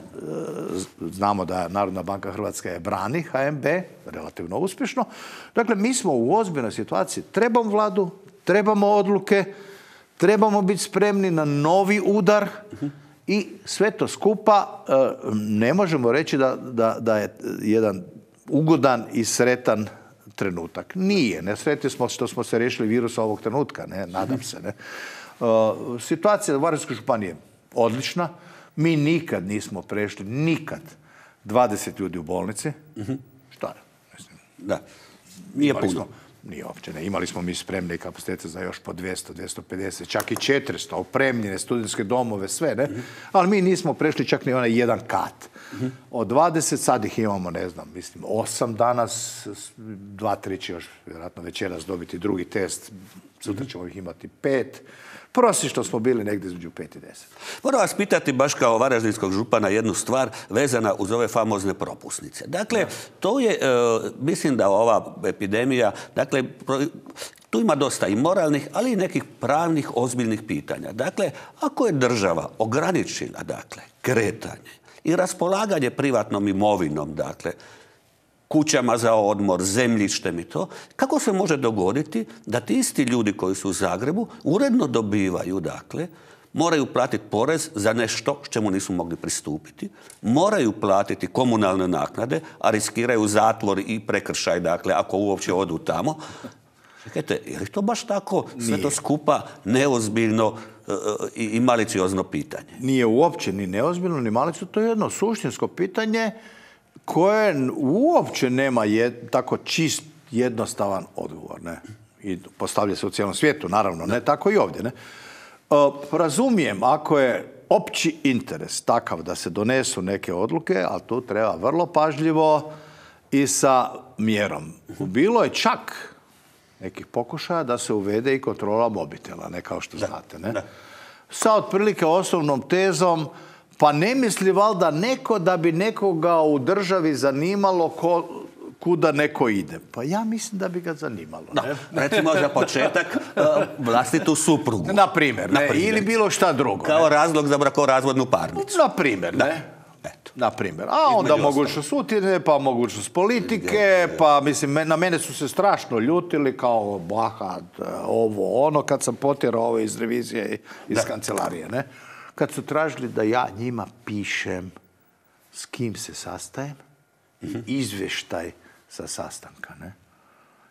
znamo da Narodna banka Hrvatska je brani HNB, relativno uspješno. Dakle, mi smo u ozbiljnoj situaciji. Trebamo vladu, trebamo odluke, trebamo biti spremni na novi udar i sve to skupa ne možemo reći da je jedan ugodan i sretan trenutak. Nije. Ne sretni smo što smo se riješili virusa ovog trenutka. Ne? Nadam se. Ne? Situacija u Varaždinskoj županiji je odlična. Mi nikad nismo prešli, nikad, 20 ljudi u bolnici. Šta je? Mislim, da. Nije puno. Nije uopće, ne. Imali smo mi spremne kapacitete za još po 200, 250, čak i 400, opremljene, studentske domove, sve, ne? Ali mi nismo prešli čak ni onaj jedan kat. Od 20, sad ih imamo, ne znam, mislim, 8 danas, 2-3 će još, vjerojatno večeras dobiti drugi test, sutra ćemo ih imati 5. Prosječno smo bili negdje između 5 i 10. Moram vas pitati baš kao varaždinskog župana jednu stvar vezana uz ove famozne propusnice. Dakle, to je, mislim da ova epidemija, dakle, tu ima dosta i moralnih, ali i nekih pravnih, ozbiljnih pitanja. Dakle, ako je država ograničila, dakle, kretanje i raspolaganje privatnom imovinom, dakle, kućama za odmor, zemljištem i to, kako se može dogoditi da ti isti ljudi koji su u Zagrebu uredno dobivaju, dakle, moraju platiti porez za nešto čemu nisu mogli pristupiti, moraju platiti komunalne naknade, a riskiraju zatvor i prekršaj, dakle, ako uopće odu tamo. Čekajte, je li to baš tako sve to skupa neozbiljno i maliciozno pitanje? Nije uopće ni neozbiljno, ni maliciozno, to je jedno suštinsko pitanje koje uopće nema tako čist, jednostavan odgovor. Ne? I postavlja se u cijelom svijetu, naravno, ne tako i ovdje. Ne? Razumijem, ako je opći interes takav da se donesu neke odluke, ali tu treba vrlo pažljivo i sa mjerom. Bilo je čak nekih pokušaja da se uvede i kontrola mobitela, ne kao što znate. Ne? Sa otprilike osnovnom tezom, pa ne misli valjda neko da bi nekoga u državi zanimalo kuda neko ide. Pa ja mislim da bi ga zanimalo. Ne? Recimo za početak vlastitu suprugu. Na primjer, ne? Ili bilo šta drugo. Kao razlog za brakorazvodnu parnicu. Na primjer, ne? Na primjer. A onda mogućnost utjene, pa mogućnost politike, pa mislim, na mene su se strašno ljutili kao bahat, ovo, ono, kad sam potjerao ovo iz revizije, iz kancelarije, ne? Kad su tražili da ja njima pišem s kim se sastajem i izvještaj sa sastanka, ne?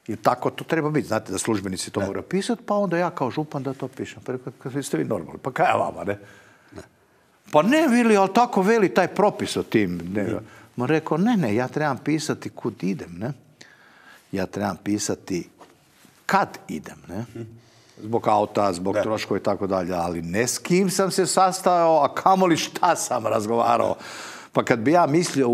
I tako to treba biti. Znate da službenici to moraju pisati, pa onda ja kao župan da to pišem. Pa kad ste vi normalni, pa kaj vama, ne? Pa ne, Vili, ali tako veli taj propis o tim. Ma rekao, ne, ja trebam pisati kud idem, ne? Ja trebam pisati kad idem, ne? Zbog auta, zbog troškova i tako dalje, ali ne s kim sam se sastao, a kamoli šta sam razgovarao. Pa kad bi ja mislio,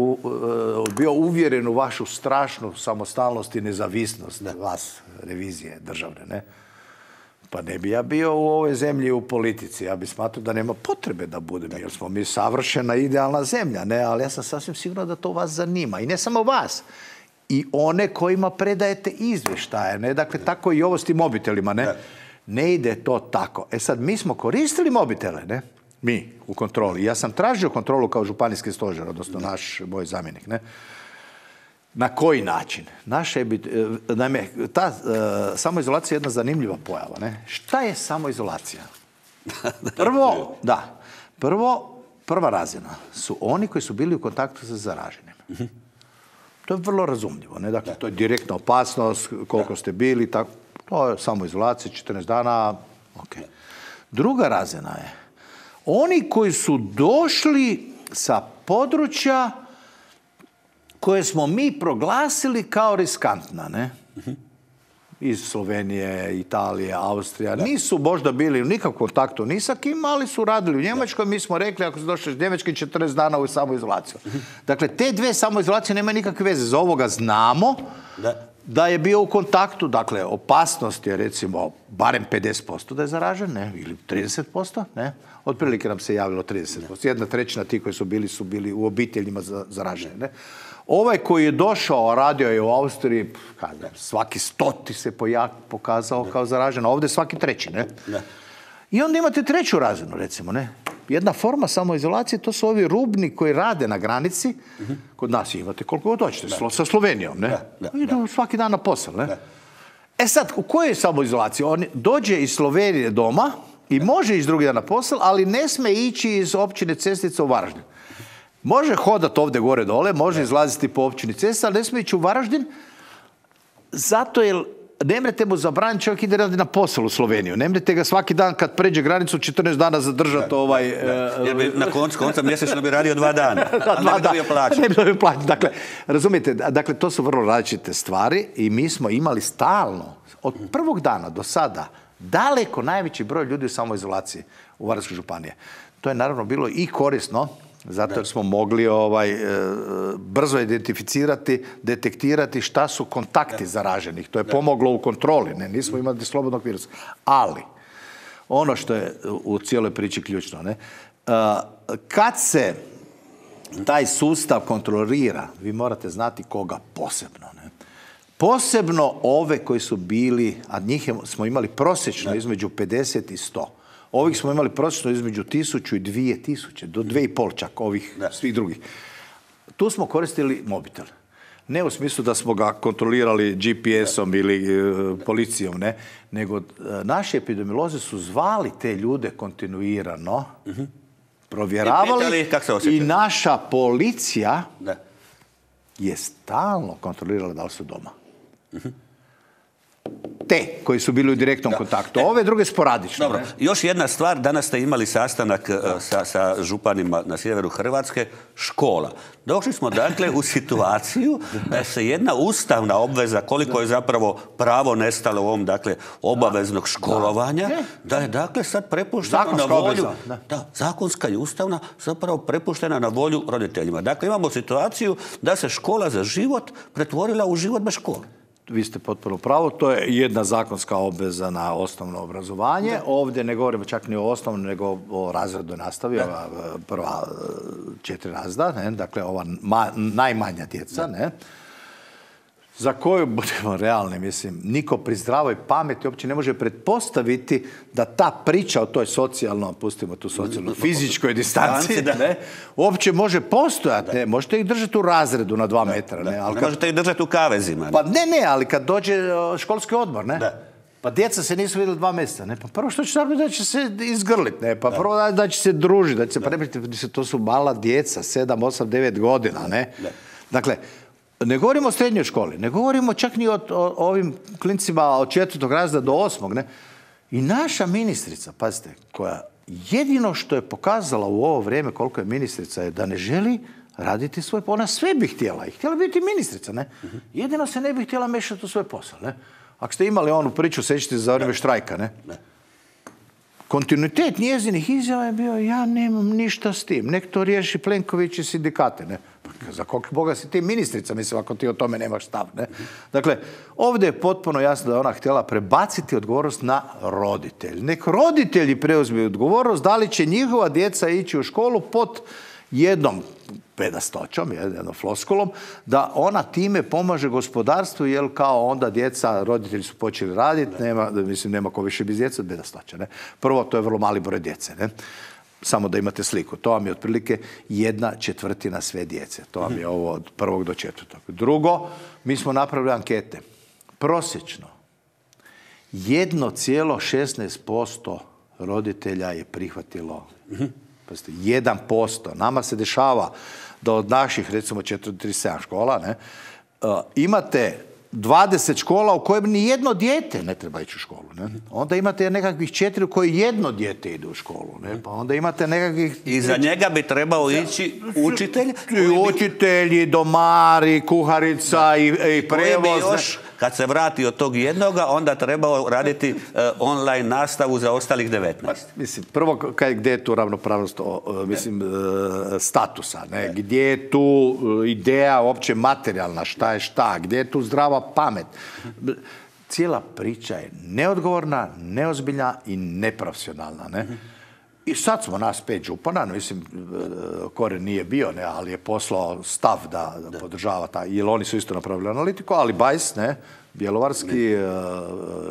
bio uvjeren u vašu strašnu samostalnost i nezavisnost vas, revizije državne, ne? Pa ne bi ja bio u ovoj zemlji u politici. Ja bi smatrao da nema potrebe da budem, jer smo mi savršena idealna zemlja, ne? Ali ja sam sasvim siguran da to vas zanima. I ne samo vas, i one kojima predajete izvještaje, ne? Dakle, tako i ovo s tim mobitelima, ne? Ne ide to tako. E sad, mi smo koristili mobitele, ne? Mi, u kontroli. Ja sam tražio kontrolu kao županijski stožer, odnosno moj zamjenik, ne? Na koji način? Naime, ta samoizolacija je jedna zanimljiva pojava, ne? Šta je samoizolacija? Prva razina su oni koji su bili u kontaktu sa zaraženim. To je vrlo razumljivo, ne? Dakle, to je direktna opasnost, koliko ste bili, tako. To je samoizolacija, 14 dana, ok. Druga razina je oni koji su došli sa područja koje smo mi proglasili kao riskantna, ne? Iz Slovenije, Italije, Austrija. Nisu možda bili u nikakvom kontaktu ni sa kim, ali su radili u Njemačkoj. Mi smo rekli, ako su došli iz Njemačke, 14 dana u samoizolaciju. Dakle, te dve samoizolacije nemaju nikakve veze. Za ovoga znamo da je bio u kontaktu, dakle, opasnost je recimo barem 50% da je zaražen, ne, ili 30%, ne, otprilike nam se javilo 30%. 1/3 ti koji su bili u obiteljima zaraženi, ne. Ovaj koji je došao, a radio je u Austriji, svaki 100 se pokazao kao zaražen, a ovdje svaki 3, ne. I onda imate 3. razinu, recimo, ne. Jedna forma samoizolacije, to su ovi rubni koji rade na granici. Kod nas imate koliko god hoćete, sa Slovenijom, ne? Idu svaki dan na posao, ne? E sad, u kojoj je samoizolaciji? On dođe iz Slovenije doma i može ići drugi dan na posao, ali ne sme ići iz općine Cestica u Varaždin. Može hodati ovdje gore dole, može izlaziti po općini Cestica, ali ne smije ići u Varaždin, zato jer ne mrete mu zabraniti, čovjek ide raditi na posao u Sloveniju. Ne mrete ga svaki dan kad pređe granicu 14 dana zadržati Jer bi na konca mjesečno bi radio 2 dana. Ne bi dobio plaću. Ne bi dobio plaću. Dakle, razumijete, dakle, to su vrlo različite stvari i mi smo imali stalno, od prvog dana do sada, daleko najveći broj ljudi u samoizolaciji u Varaždinskoj županiji. To je naravno bilo i korisno, zato jer smo mogli brzo identificirati, detektirati šta su kontakti zaraženih. To je pomoglo u kontroli, ne, nismo imali slobodnog virusa. Ali, ono što je u cijeloj priči ključno, ne, kad se taj sustav kontrolira, vi morate znati koga posebno, ne. Posebno ove koji su bili, a njih smo imali prosječno između 50 i 100. Ovih smo imali prosječno između 1000 i 2000, do 2,5 čak, ovih svih drugih. Tu smo koristili mobitel. Ne u smislu da smo ga kontrolirali GPS-om ili policijom, ne, nego naši epidemiolozi su zvali te ljude kontinuirano, provjeravali i naša policija je stalno kontrolirala da li su doma. Te koji su bili u direktnom kontaktu. Ove druge sporadično. Dobro. Još jedna stvar, danas ste imali sastanak sa županima na sjeveru Hrvatske, škola. Došli smo dakle u situaciju da se jedna ustavna obveza, koliko je zapravo pravo nestalo u ovom dakle obaveznog školovanja, da je dakle sad prepuštena na volju, zakonska i ustavna, zapravo prepuštena na volju roditeljima. Dakle, imamo situaciju da se škola za život pretvorila u život bez škole. Vi ste potpuno pravo, to je jedna zakonska obveza na osnovno obrazovanje. Ovdje ne govorimo čak ni o osnovnom, nego o razrednoj nastavi, ova prva 4 razreda, ne? Dakle, ova najmanja djeca, ne? Za koju, budemo realni, mislim, niko pri zdravoj pameti uopće ne može pretpostaviti da ta priča o toj socijalno, pustimo tu socijalno, fizičkoj distanci, ne, uopće može postojati. Ne, možete ih držati u razredu na 2 metra. Ne, ali možete ih držati u kavezima. Pa ne, ali kad dođe školski odmor, ne. Pa djeca se nisu vidjeli 2 mjeseca, ne. Pa prvo što će napraviti da će se izgrliti, ne. Pa prvo da će se družiti, da će se prebriti, to su mala djeca, 7, 8, 9 godina, ne. Dakle, ne govorimo o srednjoj školi, ne govorimo čak ni o ovim klincima od 4. razreda do 8. Ne? I naša ministrica, pazite, koja jedino što je pokazala u ovo vrijeme koliko je ministrica je da ne želi raditi svoj posao. Ona sve bi htjela i htjela biti ministrica. Ne? Jedino se ne bi htjela mešati u svoj posao. Ne? Ako ste imali onu priču, sećate za vrijeme štrajka, ne? Kontinuitet njezinih izjava je bio ja nemam ništa s tim, nek to riješi Plenković i sindikate. Ne? Za koliko Boga si ti ministrica, mislim, ako ti o tome nemaš stav. Ne? Dakle, ovdje je potpuno jasno da je ona htjela prebaciti odgovornost na roditelj. Nek roditelji preuzme odgovornost da li će njihova djeca ići u školu pod jednom bedastoćom, jednom floskulom, da ona time pomaže gospodarstvu, jer kao onda djeca, roditelji su počeli raditi, nema ko više bez djeca od bedastoća. Ne? Prvo, to je vrlo mali broj djece. Ne? Samo da imate sliku. To vam je otprilike 1/4 sve djece. To vam je ovo od 1. do 4. Drugo, mi smo napravili ankete. Prosječno 1,16% roditelja je prihvatilo 1%. Nama se dešava da od naših, recimo 47 škola, ne, imate 20 škola u kojem ni jedno dijete ne treba ići u školu. Ne? Onda imate nekakvih 4 u koji jedno dijete ide u školu. Ne? Pa onda imate nekakvih... I za njega bi trebao ići učitelj? I učitelji, domari, kuharica i prevoz. kad se vrati od tog jednoga, onda trebao raditi online nastavu za ostalih 19. Mislim, prvo, gdje je tu ravnopravnost statusa, ne? Gdje je tu ideja uopće materijalna, šta je šta, gdje je tu zdrava pamet. Cijela priča je neodgovorna, neozbiljna i neprofesionalna, ne? I sad smo nas 5 župana, mislim, Koren nije bio, ne, ali je poslao stav da podržava taj, jer oni su isto napravili analitiku, ali Bajs, ne, Bjelovarski,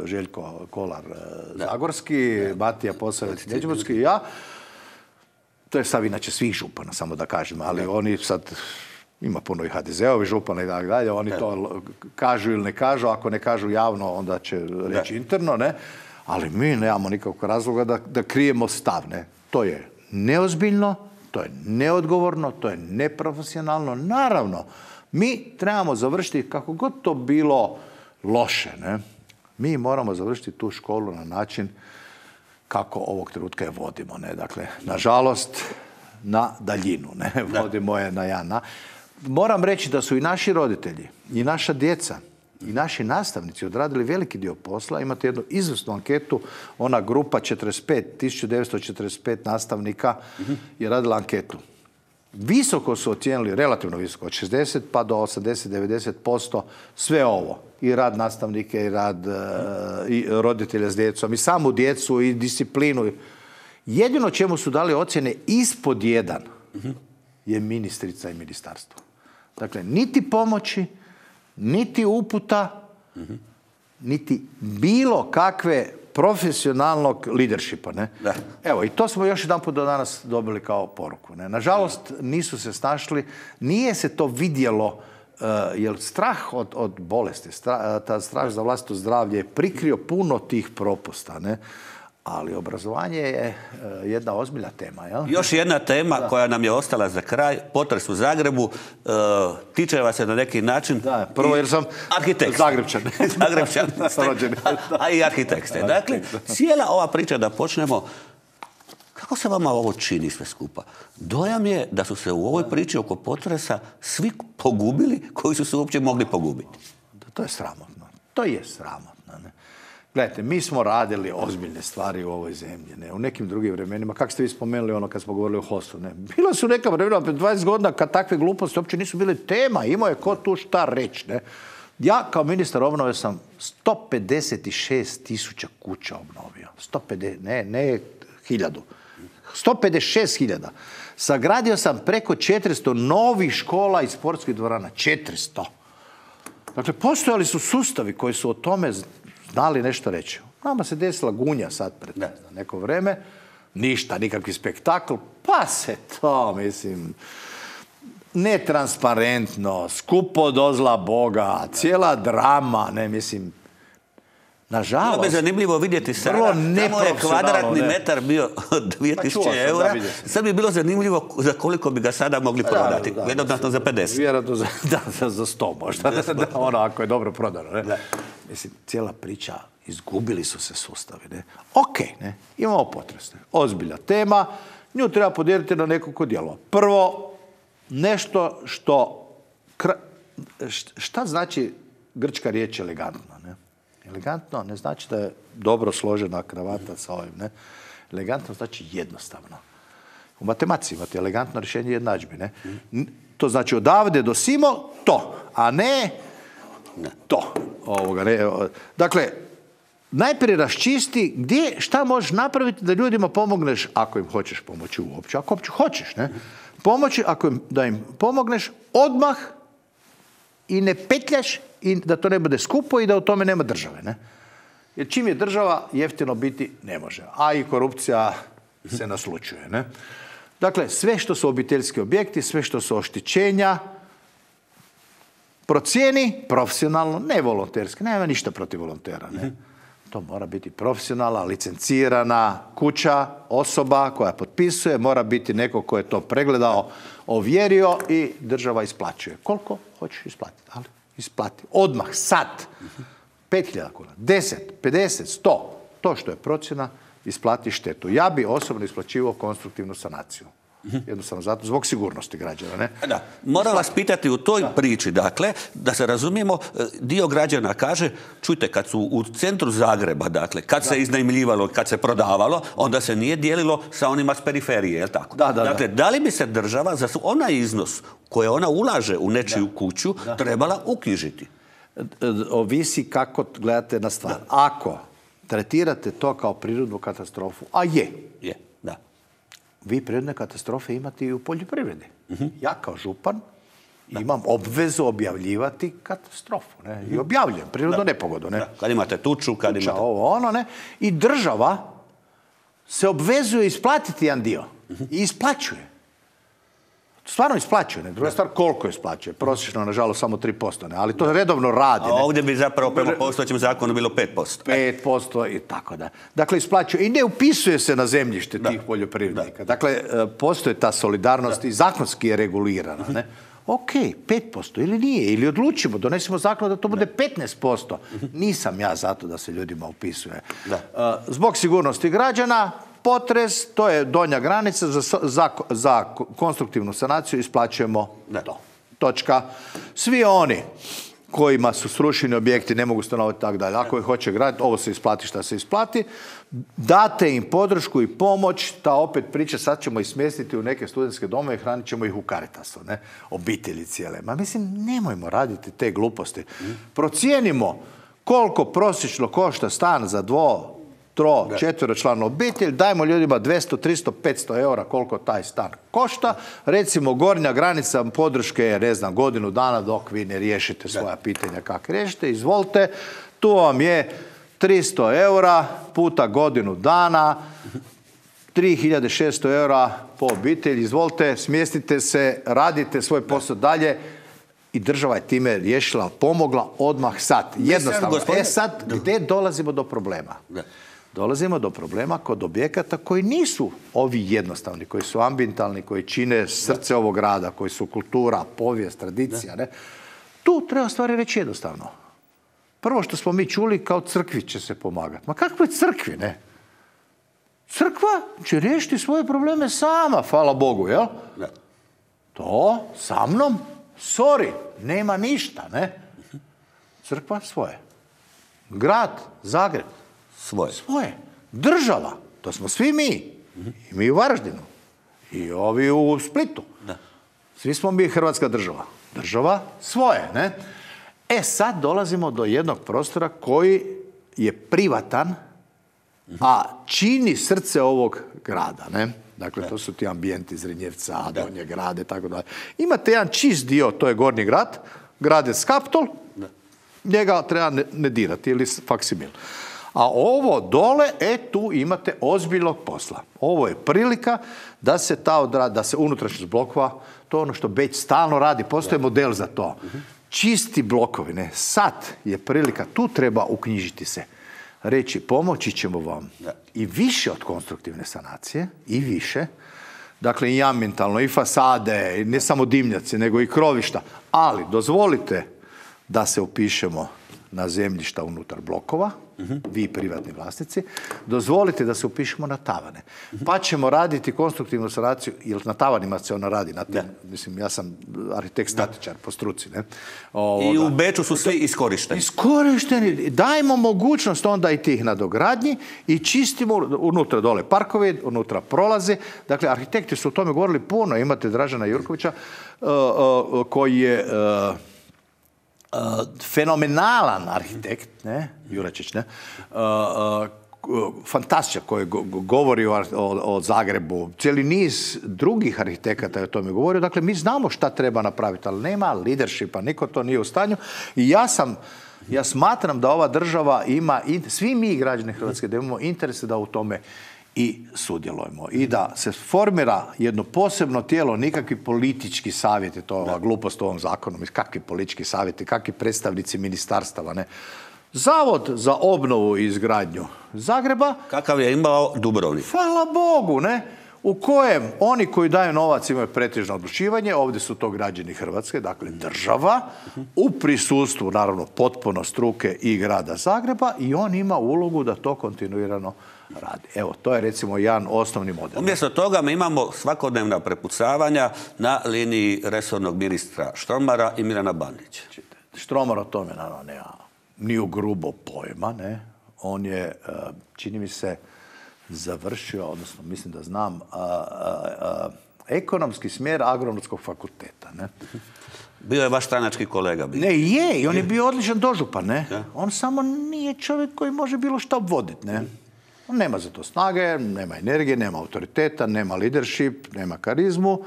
Željko Kolar Zagorski, Matija Posavec Međimurski i ja. To je stav inače svih župana, samo da kažem, ali oni sad, ima puno i HDZ-ovi župana i tako dalje, oni to kažu ili ne kažu, ako ne kažu javno, onda će reći interno, ne. Ali mi nemamo nikakvog razloga da krijemo stav, ne. To je neozbiljno, to je neodgovorno, to je neprofesionalno. Naravno, mi trebamo završiti, kako god to bilo loše, ne. Mi moramo završiti tu školu na način kako ovog trenutka je vodimo, ne. Dakle, nažalost, na daljinu, ne. Vodimo je na jedan. Moram reći da su i naši roditelji, i naša djeca, i naši nastavnici odradili veliki dio posla. Imate jednu izvrsnu anketu, ona grupa 1945 nastavnika je radila anketu. Visoko su ocijenili, relativno visoko, od 60 pa do 80-90% sve ovo. I rad nastavnike, i rad i roditelja s djecom, i samu djecu, i disciplinu. Jedino čemu su dali ocjene ispod 1 je ministrica i ministarstvo. Dakle, niti pomoći, niti uputa, niti bilo kakve profesionalnog leadershipa, ne? Da. Evo, i to smo još jedan put do danas dobili kao poruku, ne? Nažalost, nisu se snašli, nije se to vidjelo, jer strah od bolesti, ta strah za vlastito zdravlje je prikrio puno tih propusta, ne? Ali obrazovanje je jedna ozbiljna tema. Jel? Još jedna tema koja nam je ostala za kraj, potres u Zagrebu, tiče vas se na neki način. Da, prvo jer sam arhitekt. Zagrebčan. A i arhitekt ste. Dakle, cijela ova priča, da počnemo, kako se vama ovo čini sve skupa? Dojam je da su se u ovoj priči oko potresa svi pogubili koji su se uopće mogli pogubiti. To je sramotno. To je sramotno. Ne? Gledajte, mi smo radili ozbiljne stvari u ovoj zemlji, ne? U nekim drugim vremenima. Kako ste vi spomenuli ono kad smo govorili o HOS-u? Ne? Bila su neka vremena, pred 20 godina, kad takve gluposti uopće nisu bile tema. Imao je ko tu šta reći. Ne? Ja kao ministar obnove sam 156.000 kuća obnovio. 150, ne 1000. 156.000. Sagradio sam preko 400 novih škola i sportskih dvorana. 400. Dakle, postojali su sustavi koji su o tome znali nešto reći. Nama se desila Gunja sad pred neko vreme. Ništa, nikakvi spektakl. Pa se to, mislim, netransparentno, skupo do zla Boga, cijela drama, ne, mislim, nažalost. Bilo bi zanimljivo vidjeti sada, tamo je kvadratni metar bio 2000 eura, sad bi bilo zanimljivo za koliko bi ga sada mogli prodati. Vjerojatno za 50. Vjerojatno za 100 možda, ono ako je dobro prodano. Ne? Mislim, cijela priča, izgubili su se sustavi. Ne? Ok, ne? Imamo potres. Ozbiljna tema, nju treba podijeliti na nekoliko dijelova. Prvo, nešto što... Šta znači grčka riječ elegantno? Ne? Elegantno ne znači da je dobro složena kravata sa ovim. Ne? Elegantno znači jednostavno. U matematici imate elegantno rješenje jednadžbi. Ne? To znači odavde do simo to, a ne to. Dakle, najprije raščisti šta možeš napraviti da ljudima pomogneš ako im hoćeš pomoći uopće. Ako uopće hoćeš, ne? Pomoći da im pomogneš odmah i ne petljaš i da to ne bude skupo i da u tome nema države. Ne? Jer čim je država, jeftino biti ne može. A i korupcija se naslučuje. Ne? Dakle, sve što su obiteljski objekti, sve što su oštećenja, procijeni profesionalno, ne volonterski. Nema ništa protiv volontera. Ne? To mora biti profesionalna, licencirana kuća, osoba koja potpisuje, mora biti neko ko je to pregledao, ovjerio i država isplaćuje. Koliko hoćeš isplatiti? Ali isplati. Odmah, sad. 5.000 kuna, 10, 50, 100. To što je procjena, isplati štetu. Ja bi osobno isplaćivao konstruktivnu sanaciju. Jednostavno zato, zbog sigurnosti građana. Ne? Da. Moram vas pitati u toj priči, dakle, da se razumijemo, dio građana kaže, čujte, kad su u centru Zagreba, dakle, kad se iznajmljivalo, kad se prodavalo, onda se nije dijelilo sa onima s periferije, je li tako? Dakle, da li bi se država za onaj iznos koje ona ulaže u nečiju kuću trebala uknjižiti? Ovisi kako gledate na stvar. Ako tretirate to kao prirodnu katastrofu, a je, vi prirodne katastrofe imate i u poljoprivredi. Ja kao župan imam obvezu objavljivati katastrofu. Ne? I objavljujem prirodnu nepogodu. Ne? Kad imate tuču, kad imate... Ovo, ono, ne? I država se obvezuje isplatiti jedan dio. I isplaćuje. Stvarno isplaćuje. Ne? Druga stvar, koliko isplaćuje? Prosječno, nažalost, samo 3%. Ne? Ali to redovno radi. A ovdje bi zapravo prema postojećem zakonu bilo 5%. 5% i tako da. Dakle, isplaćuje. I ne upisuje se na zemljište tih poljoprivrednika. Dakle, postoje ta solidarnost i zakonski je regulirana. Ne? Ok, 5% ili nije. Ili odlučimo, donesemo zakon da to bude 15%. Nisam ja zato da se ljudima upisuje. Zbog sigurnosti građana, potres, to je donja granica, za konstruktivnu sanaciju isplaćujemo to. Točka. Svi oni kojima su srušeni objekti, ne mogu stanovati tako dalje. Ako ih hoće graditi, ovo se isplati šta se isplati, date im podršku i pomoć, ta opet priča, sad ćemo ih smjestiti u neke studentske domove i hranit ćemo ih u Caritasu, ne? Obitelji cijele. Ma mislim, nemojmo raditi te gluposti. Procijenimo koliko prosječno košta stan za 2, 3, 4-članu obitelj, dajmo ljudima 200, 300, 500 eura koliko taj stan košta. Recimo, gornja granica podrške je, ne znam, godinu dana dok vi ne riješite svoja pitanja kako riješite. Izvolite, tu vam je 300 eura puta godinu dana, 3600 eura po obitelji. Izvolite, smjestite se, radite svoj posao dalje. I država je time riješila, pomogla odmah sad. Jednostavno. Sad, gdje dolazimo do problema? Dolazimo do problema kod objekata koji nisu ovi jednostavni, koji su ambientalni, koji čine srce ovog grada, koji su kultura, povijest, tradicija. Ne? Tu treba stvari reći jednostavno. Prvo što smo mi čuli, kao crkvi će se pomagati. Ma kakve crkvi, ne? Crkva će riješiti svoje probleme sama, hvala Bogu, jel? To sa mnom, sorry, nema ništa, ne? Crkva svoje. Grad, Zagreb, svoje. Država, to smo svi mi. I mi u Varaždinu. I ovi u Splitu. Svi smo mi Hrvatska država. Država svoje, ne? Sad dolazimo do jednog prostora koji je privatan, a čini srce ovog grada, ne? Dakle, to su ti ambijenti Zrinjevca, Donje grade, tako dalje. Imate jedan čist dio, to je Gornji grad, Gradec Kaptol, njega treba ne dirati, ili faksimil. A ovo dole, tu imate ozbiljnog posla. Ovo je prilika da se da se unutrašnjost blokova, to je ono što Beč stalno radi, postoji model za to. Čisti blokovi, ne? Sad je prilika, tu treba uknjižiti se. Reći, pomoći ćemo vam i više od konstruktivne sanacije, i više. Dakle, i ambientalno, i fasade, i ne samo dimnjaci, nego i krovišta. Ali dozvolite da se upišemo na zemljišta unutar blokova, vi privatni vlasnici, dozvolite da se upišemo na tavane. Pa ćemo raditi konstruktivnu sanaciju, jer na tavanima se ona radi. Mislim, ja sam arhitekt statičar po struci. Ne? I u Beču su svi iskorišteni. Iskorišteni. Dajmo mogućnost onda i tih nadogradnji i čistimo unutra dole parkovi, unutra prolaze. Dakle, arhitekti su o tome govorili puno. Imate Dražena Jurkovića koji je fenomenalan arhitekt, ne, Juračić, ne, fantastičan koji govori o Zagrebu, cijeli niz drugih arhitekata je o tome govorio. Dakle, mi znamo šta treba napraviti, ali nema leadershipa, niko to nije u stanju. I ja smatram da ova država ima, svi mi građani Hrvatske, da imamo interese da u tome i sudjelujemo. I da se formira jedno posebno tijelo, nikakvi politički savjeti, to je ova glupost u ovom zakonu, kakvi politički savjeti, kakvi predstavnici ministarstava, ne. Zavod za obnovu i izgradnju Zagreba. Kakav je imao Dubrovnik. Hvala Bogu, ne. u kojem oni koji daju novac imaju pretežno odlučivanje, ovdje su to građani Hrvatske, dakle država, u prisustvu, naravno, potpuno struke i grada Zagreba, i on ima ulogu da to kontinuirano radi. Evo, to je recimo jedan osnovni model. Umjesto toga mi imamo svakodnevna prepucavanja na liniji resornog ministra Štromara i Milana Bandića. Štromar o tome, naravno, nema ni u grubo pojma, ne. On je, čini mi se, završio, odnosno mislim da znam, ekonomski smjer Agronomskog fakulteta, ne. Bio je vaš stranački kolega. Ne, je, i on je bio odličan dožupan, ne. Ja. On samo nije čovjek koji može bilo šta obvoditi, ne. On nema za to snage, nema energije, nema autoriteta, nema leadership, nema karizmu.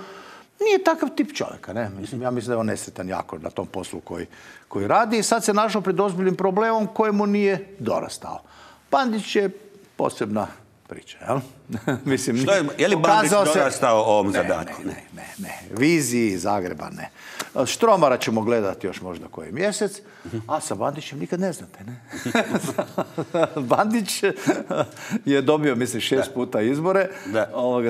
Nije takav tip čovjeka, ne. Ja mislim da je on nesretan jako na tom poslu koji radi i sad se našao pred ozbiljnim problemom kojemu nije dorastao. Bandić je posebna priča, jel? Mislim, je li Bandić dorastao ovom zadatku? Ne. Viziji Zagreba ne. Štromara ćemo gledati još možda koji mjesec, a sa Bandićem nikad ne znate, ne? Bandić je dobio, mislim, 6 puta izbore.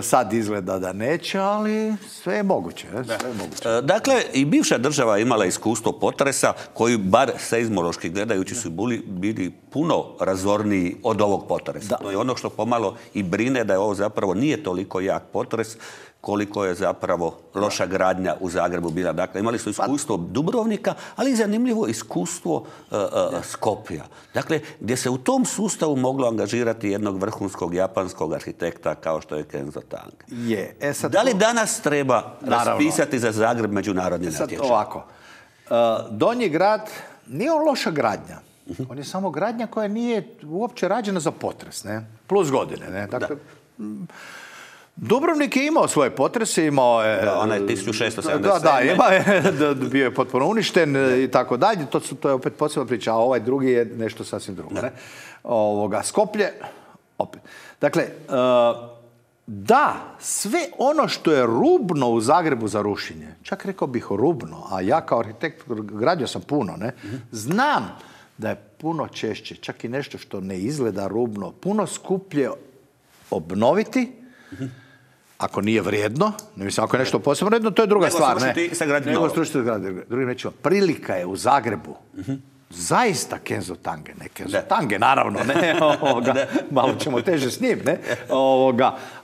Sad izgleda da neće, ali sve je moguće. Sve je moguće. Dakle, i bivša država je imala iskustvo potresa koji, bar seizmološki gledajući, su bili puno razorniji od ovog potresa. To je ono što pomalo i brine da je ovo zapravo nije toliko jak potres koliko je zapravo loša gradnja u Zagrebu bila. Dakle, imali su iskustvo Dubrovnika, ali i zanimljivo iskustvo Skopja. Dakle, gdje se u tom sustavu moglo angažirati jednog vrhunskog japanskog arhitekta kao što je Kenzo Tange. Da li danas treba raspisati za Zagreb međunarodni natječaj? Ovako. Donji grad nije on loša gradnja. On je samo gradnja koja nije uopće rađena za potres, ne? Plus godine, ne? Dakle, Dubrovnik je imao svoje potrese, imao je... Onaj 1677. Da, imao je, bio je potpuno uništen i tako dalje. To je opet posebna priča, a ovaj drugi je nešto sasvim drugo. Ne? Skoplje, opet. Dakle, da, sve ono što je rubno u Zagrebu za rušenje, čak rekao bih rubno, a ja kao arhitekt gradio sam puno, ne? Znam da je puno češće, čak i nešto što ne izgleda rubno, puno skuplje obnoviti, ako nije vrijedno, ne mislim, ako je nešto posebno vrijedno, to je druga stvar. Nego srušiti sa gradnjom. Drugim rečima, prilika je u Zagrebu zaista Kenzo Tange, ne Kenzo Tange, naravno, ne, malo ćemo teže s njim, ne,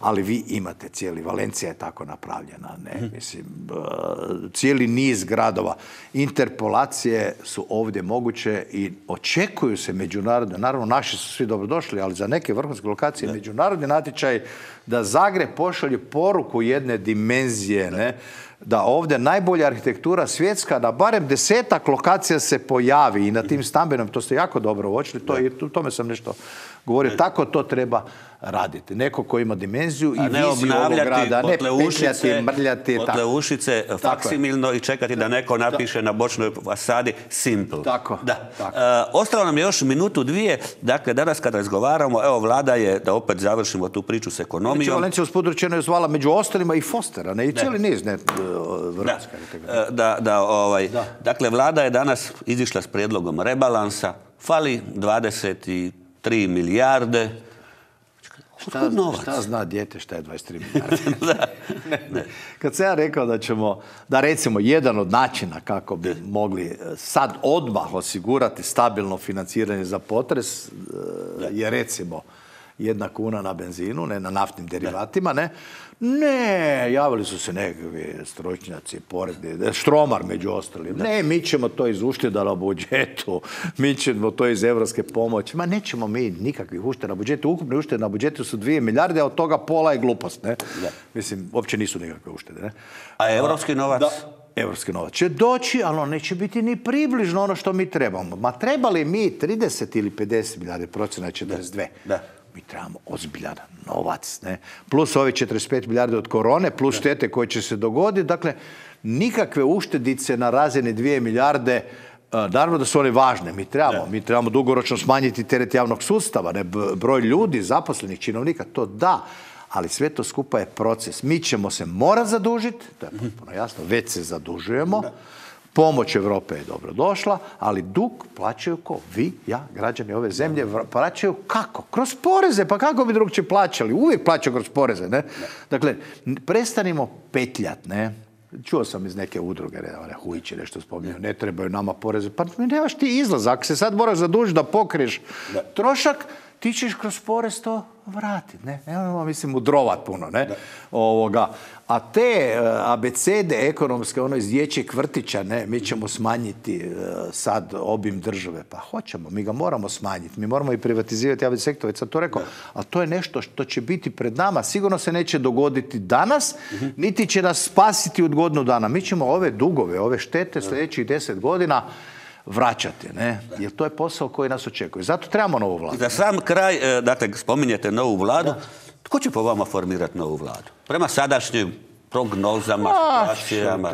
ali vi imate cijeli, Valencija je tako napravljena, ne, mislim, cijeli niz gradova. Interpolacije su ovdje moguće i očekuju se međunarodne, naravno naši su svi dobrodošli, ali za neke vrhunske lokacije međunarodni natječaj da Zagreb pošalje poruku jedne dimenzije, ne, da ovdje najbolja arhitektura svjetska, da barem 10-ak lokacija se pojavi i na tim stambenom, to ste jako dobro uočili, o tome sam nešto govorio, tako to treba raditi. Neko ko ima dimenziju i viziju ovog grada, ne petljati, mrljati. Potle ušice faksimilno i čekati da neko napiše na bočnoj fasadi simple. Tako. Ostalo nam je još minutu, dvije. Dakle, danas kad razgovaramo, evo, vlada je, da opet završimo tu priču s ekonomijom. Valencija usput rečeno je zvala među ostalima i Fostera, ne, i cijeli niz, ne, vrhunska. Dakle, vlada je danas izišla s prijedlogom rebalansa, fali 23 milijarde. Šta zna dijete šta je 23 milijarde? Kad sam ja rekao da ćemo, da recimo jedan od načina kako bi mogli sad odmah osigurati stabilno financiranje za potres je recimo 1 kuna na benzinu, ne na naftnim derivatima, ne. Ne, javili su se nekakvi stručnjaci, porezni, Štromar među ostalim. Ne, mi ćemo to iz ušteda na budžetu, mi ćemo to iz evropske pomoći. Ma nećemo mi nikakvih ušteda na budžetu. Ukupne uštede na budžetu su 2 milijarde, a od toga pola je glupost, ne. Mislim, uopće nisu nikakve uštede, ne. A evropski novac? Evropski novac će doći, ali on neće biti ni približno ono što mi trebamo. Ma trebali mi 30 ili 50 milijarde, procena je 42. Mi trebamo ozbiljan novac, ne? Plus ovi 45 milijarde od korone, plus štete koje će se dogoditi. Dakle, nikakve uštedice na razini 2 milijarde, naravno da su one važne. Mi trebamo dugoročno smanjiti teret javnog sustava, ne? Broj ljudi, zaposlenih činovnika, to da. Ali sve to skupa je proces. Mi ćemo se morati zadužiti, to je potpuno jasno, već se zadužujemo. Pomoć Europe je dobro došla, ali dug plaćaju ko? Vi, ja, građani ove zemlje plaćaju kako? Kroz poreze, pa kako bi drugčije plaćali? Uvijek plaćaju kroz poreze, ne? Dakle, prestanimo petljat, ne? Čuo sam iz neke udruge, Hujić je nešto spominjao, ne trebaju nama poreze. Pa nemaš ti izlaz, ako se sad moraš zadužiti da pokriješ trošak, ti ćeš kroz porez to vratiti, ne? Nemojmo, mislim, udrovat puno, ne? A te abecede ekonomske, ono iz dječjeg vrtića, ne? Mi ćemo smanjiti sad obim države. Pa hoćemo, mi ga moramo smanjiti. Mi moramo i privatizirati javni sektor, već sam to rekao. Ali to je nešto što će biti pred nama. Sigurno se neće dogoditi danas, niti će nas spasiti od godinu dana. Mi ćemo ove dugove, ove štete sljedećih 10 godina vraćati, ne? Jer to je posao koji nas očekuje. Zato trebamo novu vladu. Za sam kraj, dakle, spominjete novu vladu. Tko će po vama formirati novu vladu? Prema sadašnjim prognozama, situacijama.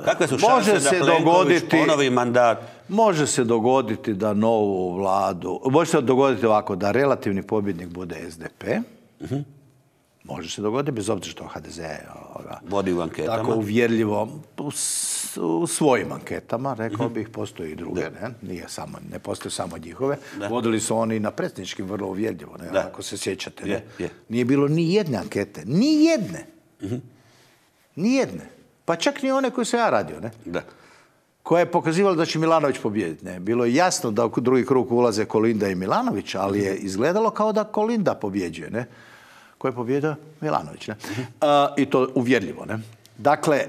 Kakve su šanse da Plenković ponovi mandat? Može se dogoditi da novu vladu... Može se dogoditi ovako, da relativni pobjednik bude SDP. Može se dogoditi, bez obzira što HDZ vodi u anketama. Tako uvjerljivo u svojim anketama, rekao bih, postoji i druge, ne postoje samo njihove. Vodili su oni na predsjedničkim vrlo uvjerljivo, ako se sjećate. Nije bilo ni jedne ankete, ni jedne. Ni jedne. Pa čak ni one koje sam ja radio, koja je pokazivala da će Milanović pobijediti. Bilo je jasno da u drugi krug ulaze Kolinda i Milanović, ali je izgledalo kao da Kolinda pobjeđuje, ne? Ko je pobjedio? Milanović. I to uvjerljivo. Ne? Dakle,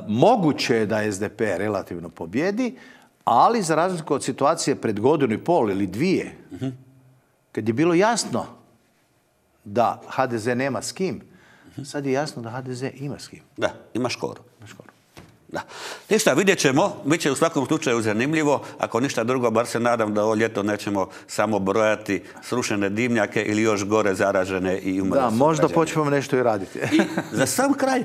moguće je da SDP relativno pobjedi, ali za razliku od situacije pred godinu i pol ili dvije, kad je bilo jasno da HDZ nema s kim, sad je jasno da HDZ ima s kim. Da, ima Škoru. Da. Ništa, vidjet ćemo. Bit će u svakom slučaju zanimljivo. Ako ništa drugo, bar se nadam da ovo ljeto nećemo samo brojati srušene dimnjake ili još gore zaražene i umrle. Da, možda počnemo nešto i raditi. I za sam kraj,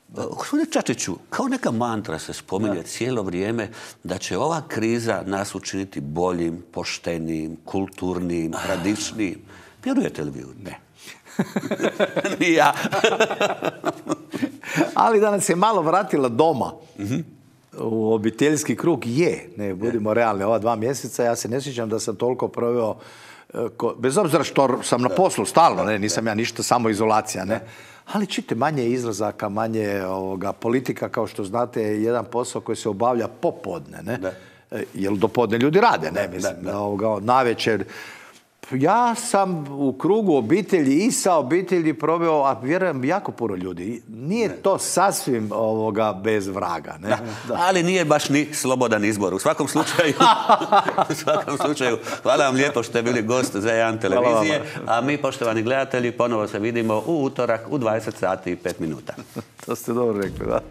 gospodine Čačiću, kao neka mantra se spominje cijelo vrijeme da će ova kriza nas učiniti boljim, poštenijim, kulturnim, radičnijim. Vjerujete li vi u ne? Ni ja. Ali da nas je malo vratila doma u obiteljski krug, budimo realni, ova 2 mjeseca, ja se ne sjećam da sam toliko proveo, bez obzira što sam na poslu stalno, nisam ja ništa, samo izolacija, ali čite, manje izlazaka, manje politika, kao što znate, je jedan posao koji se obavlja popodne, jer dopodne ljudi rade, navečer. Ja sam u krugu obitelji i sa obitelji proveo, a vjerujem, jako puno ljudi. Nije to sasvim bez vraga. Ne? Ali nije baš ni slobodan izbor. U svakom slučaju, hvala vam lijepo što ste bili gost za Jedan televizije. A mi, poštovani gledatelji, ponovo se vidimo u utorak u 20 sati i 5 minuta. To ste dobro rekli, da.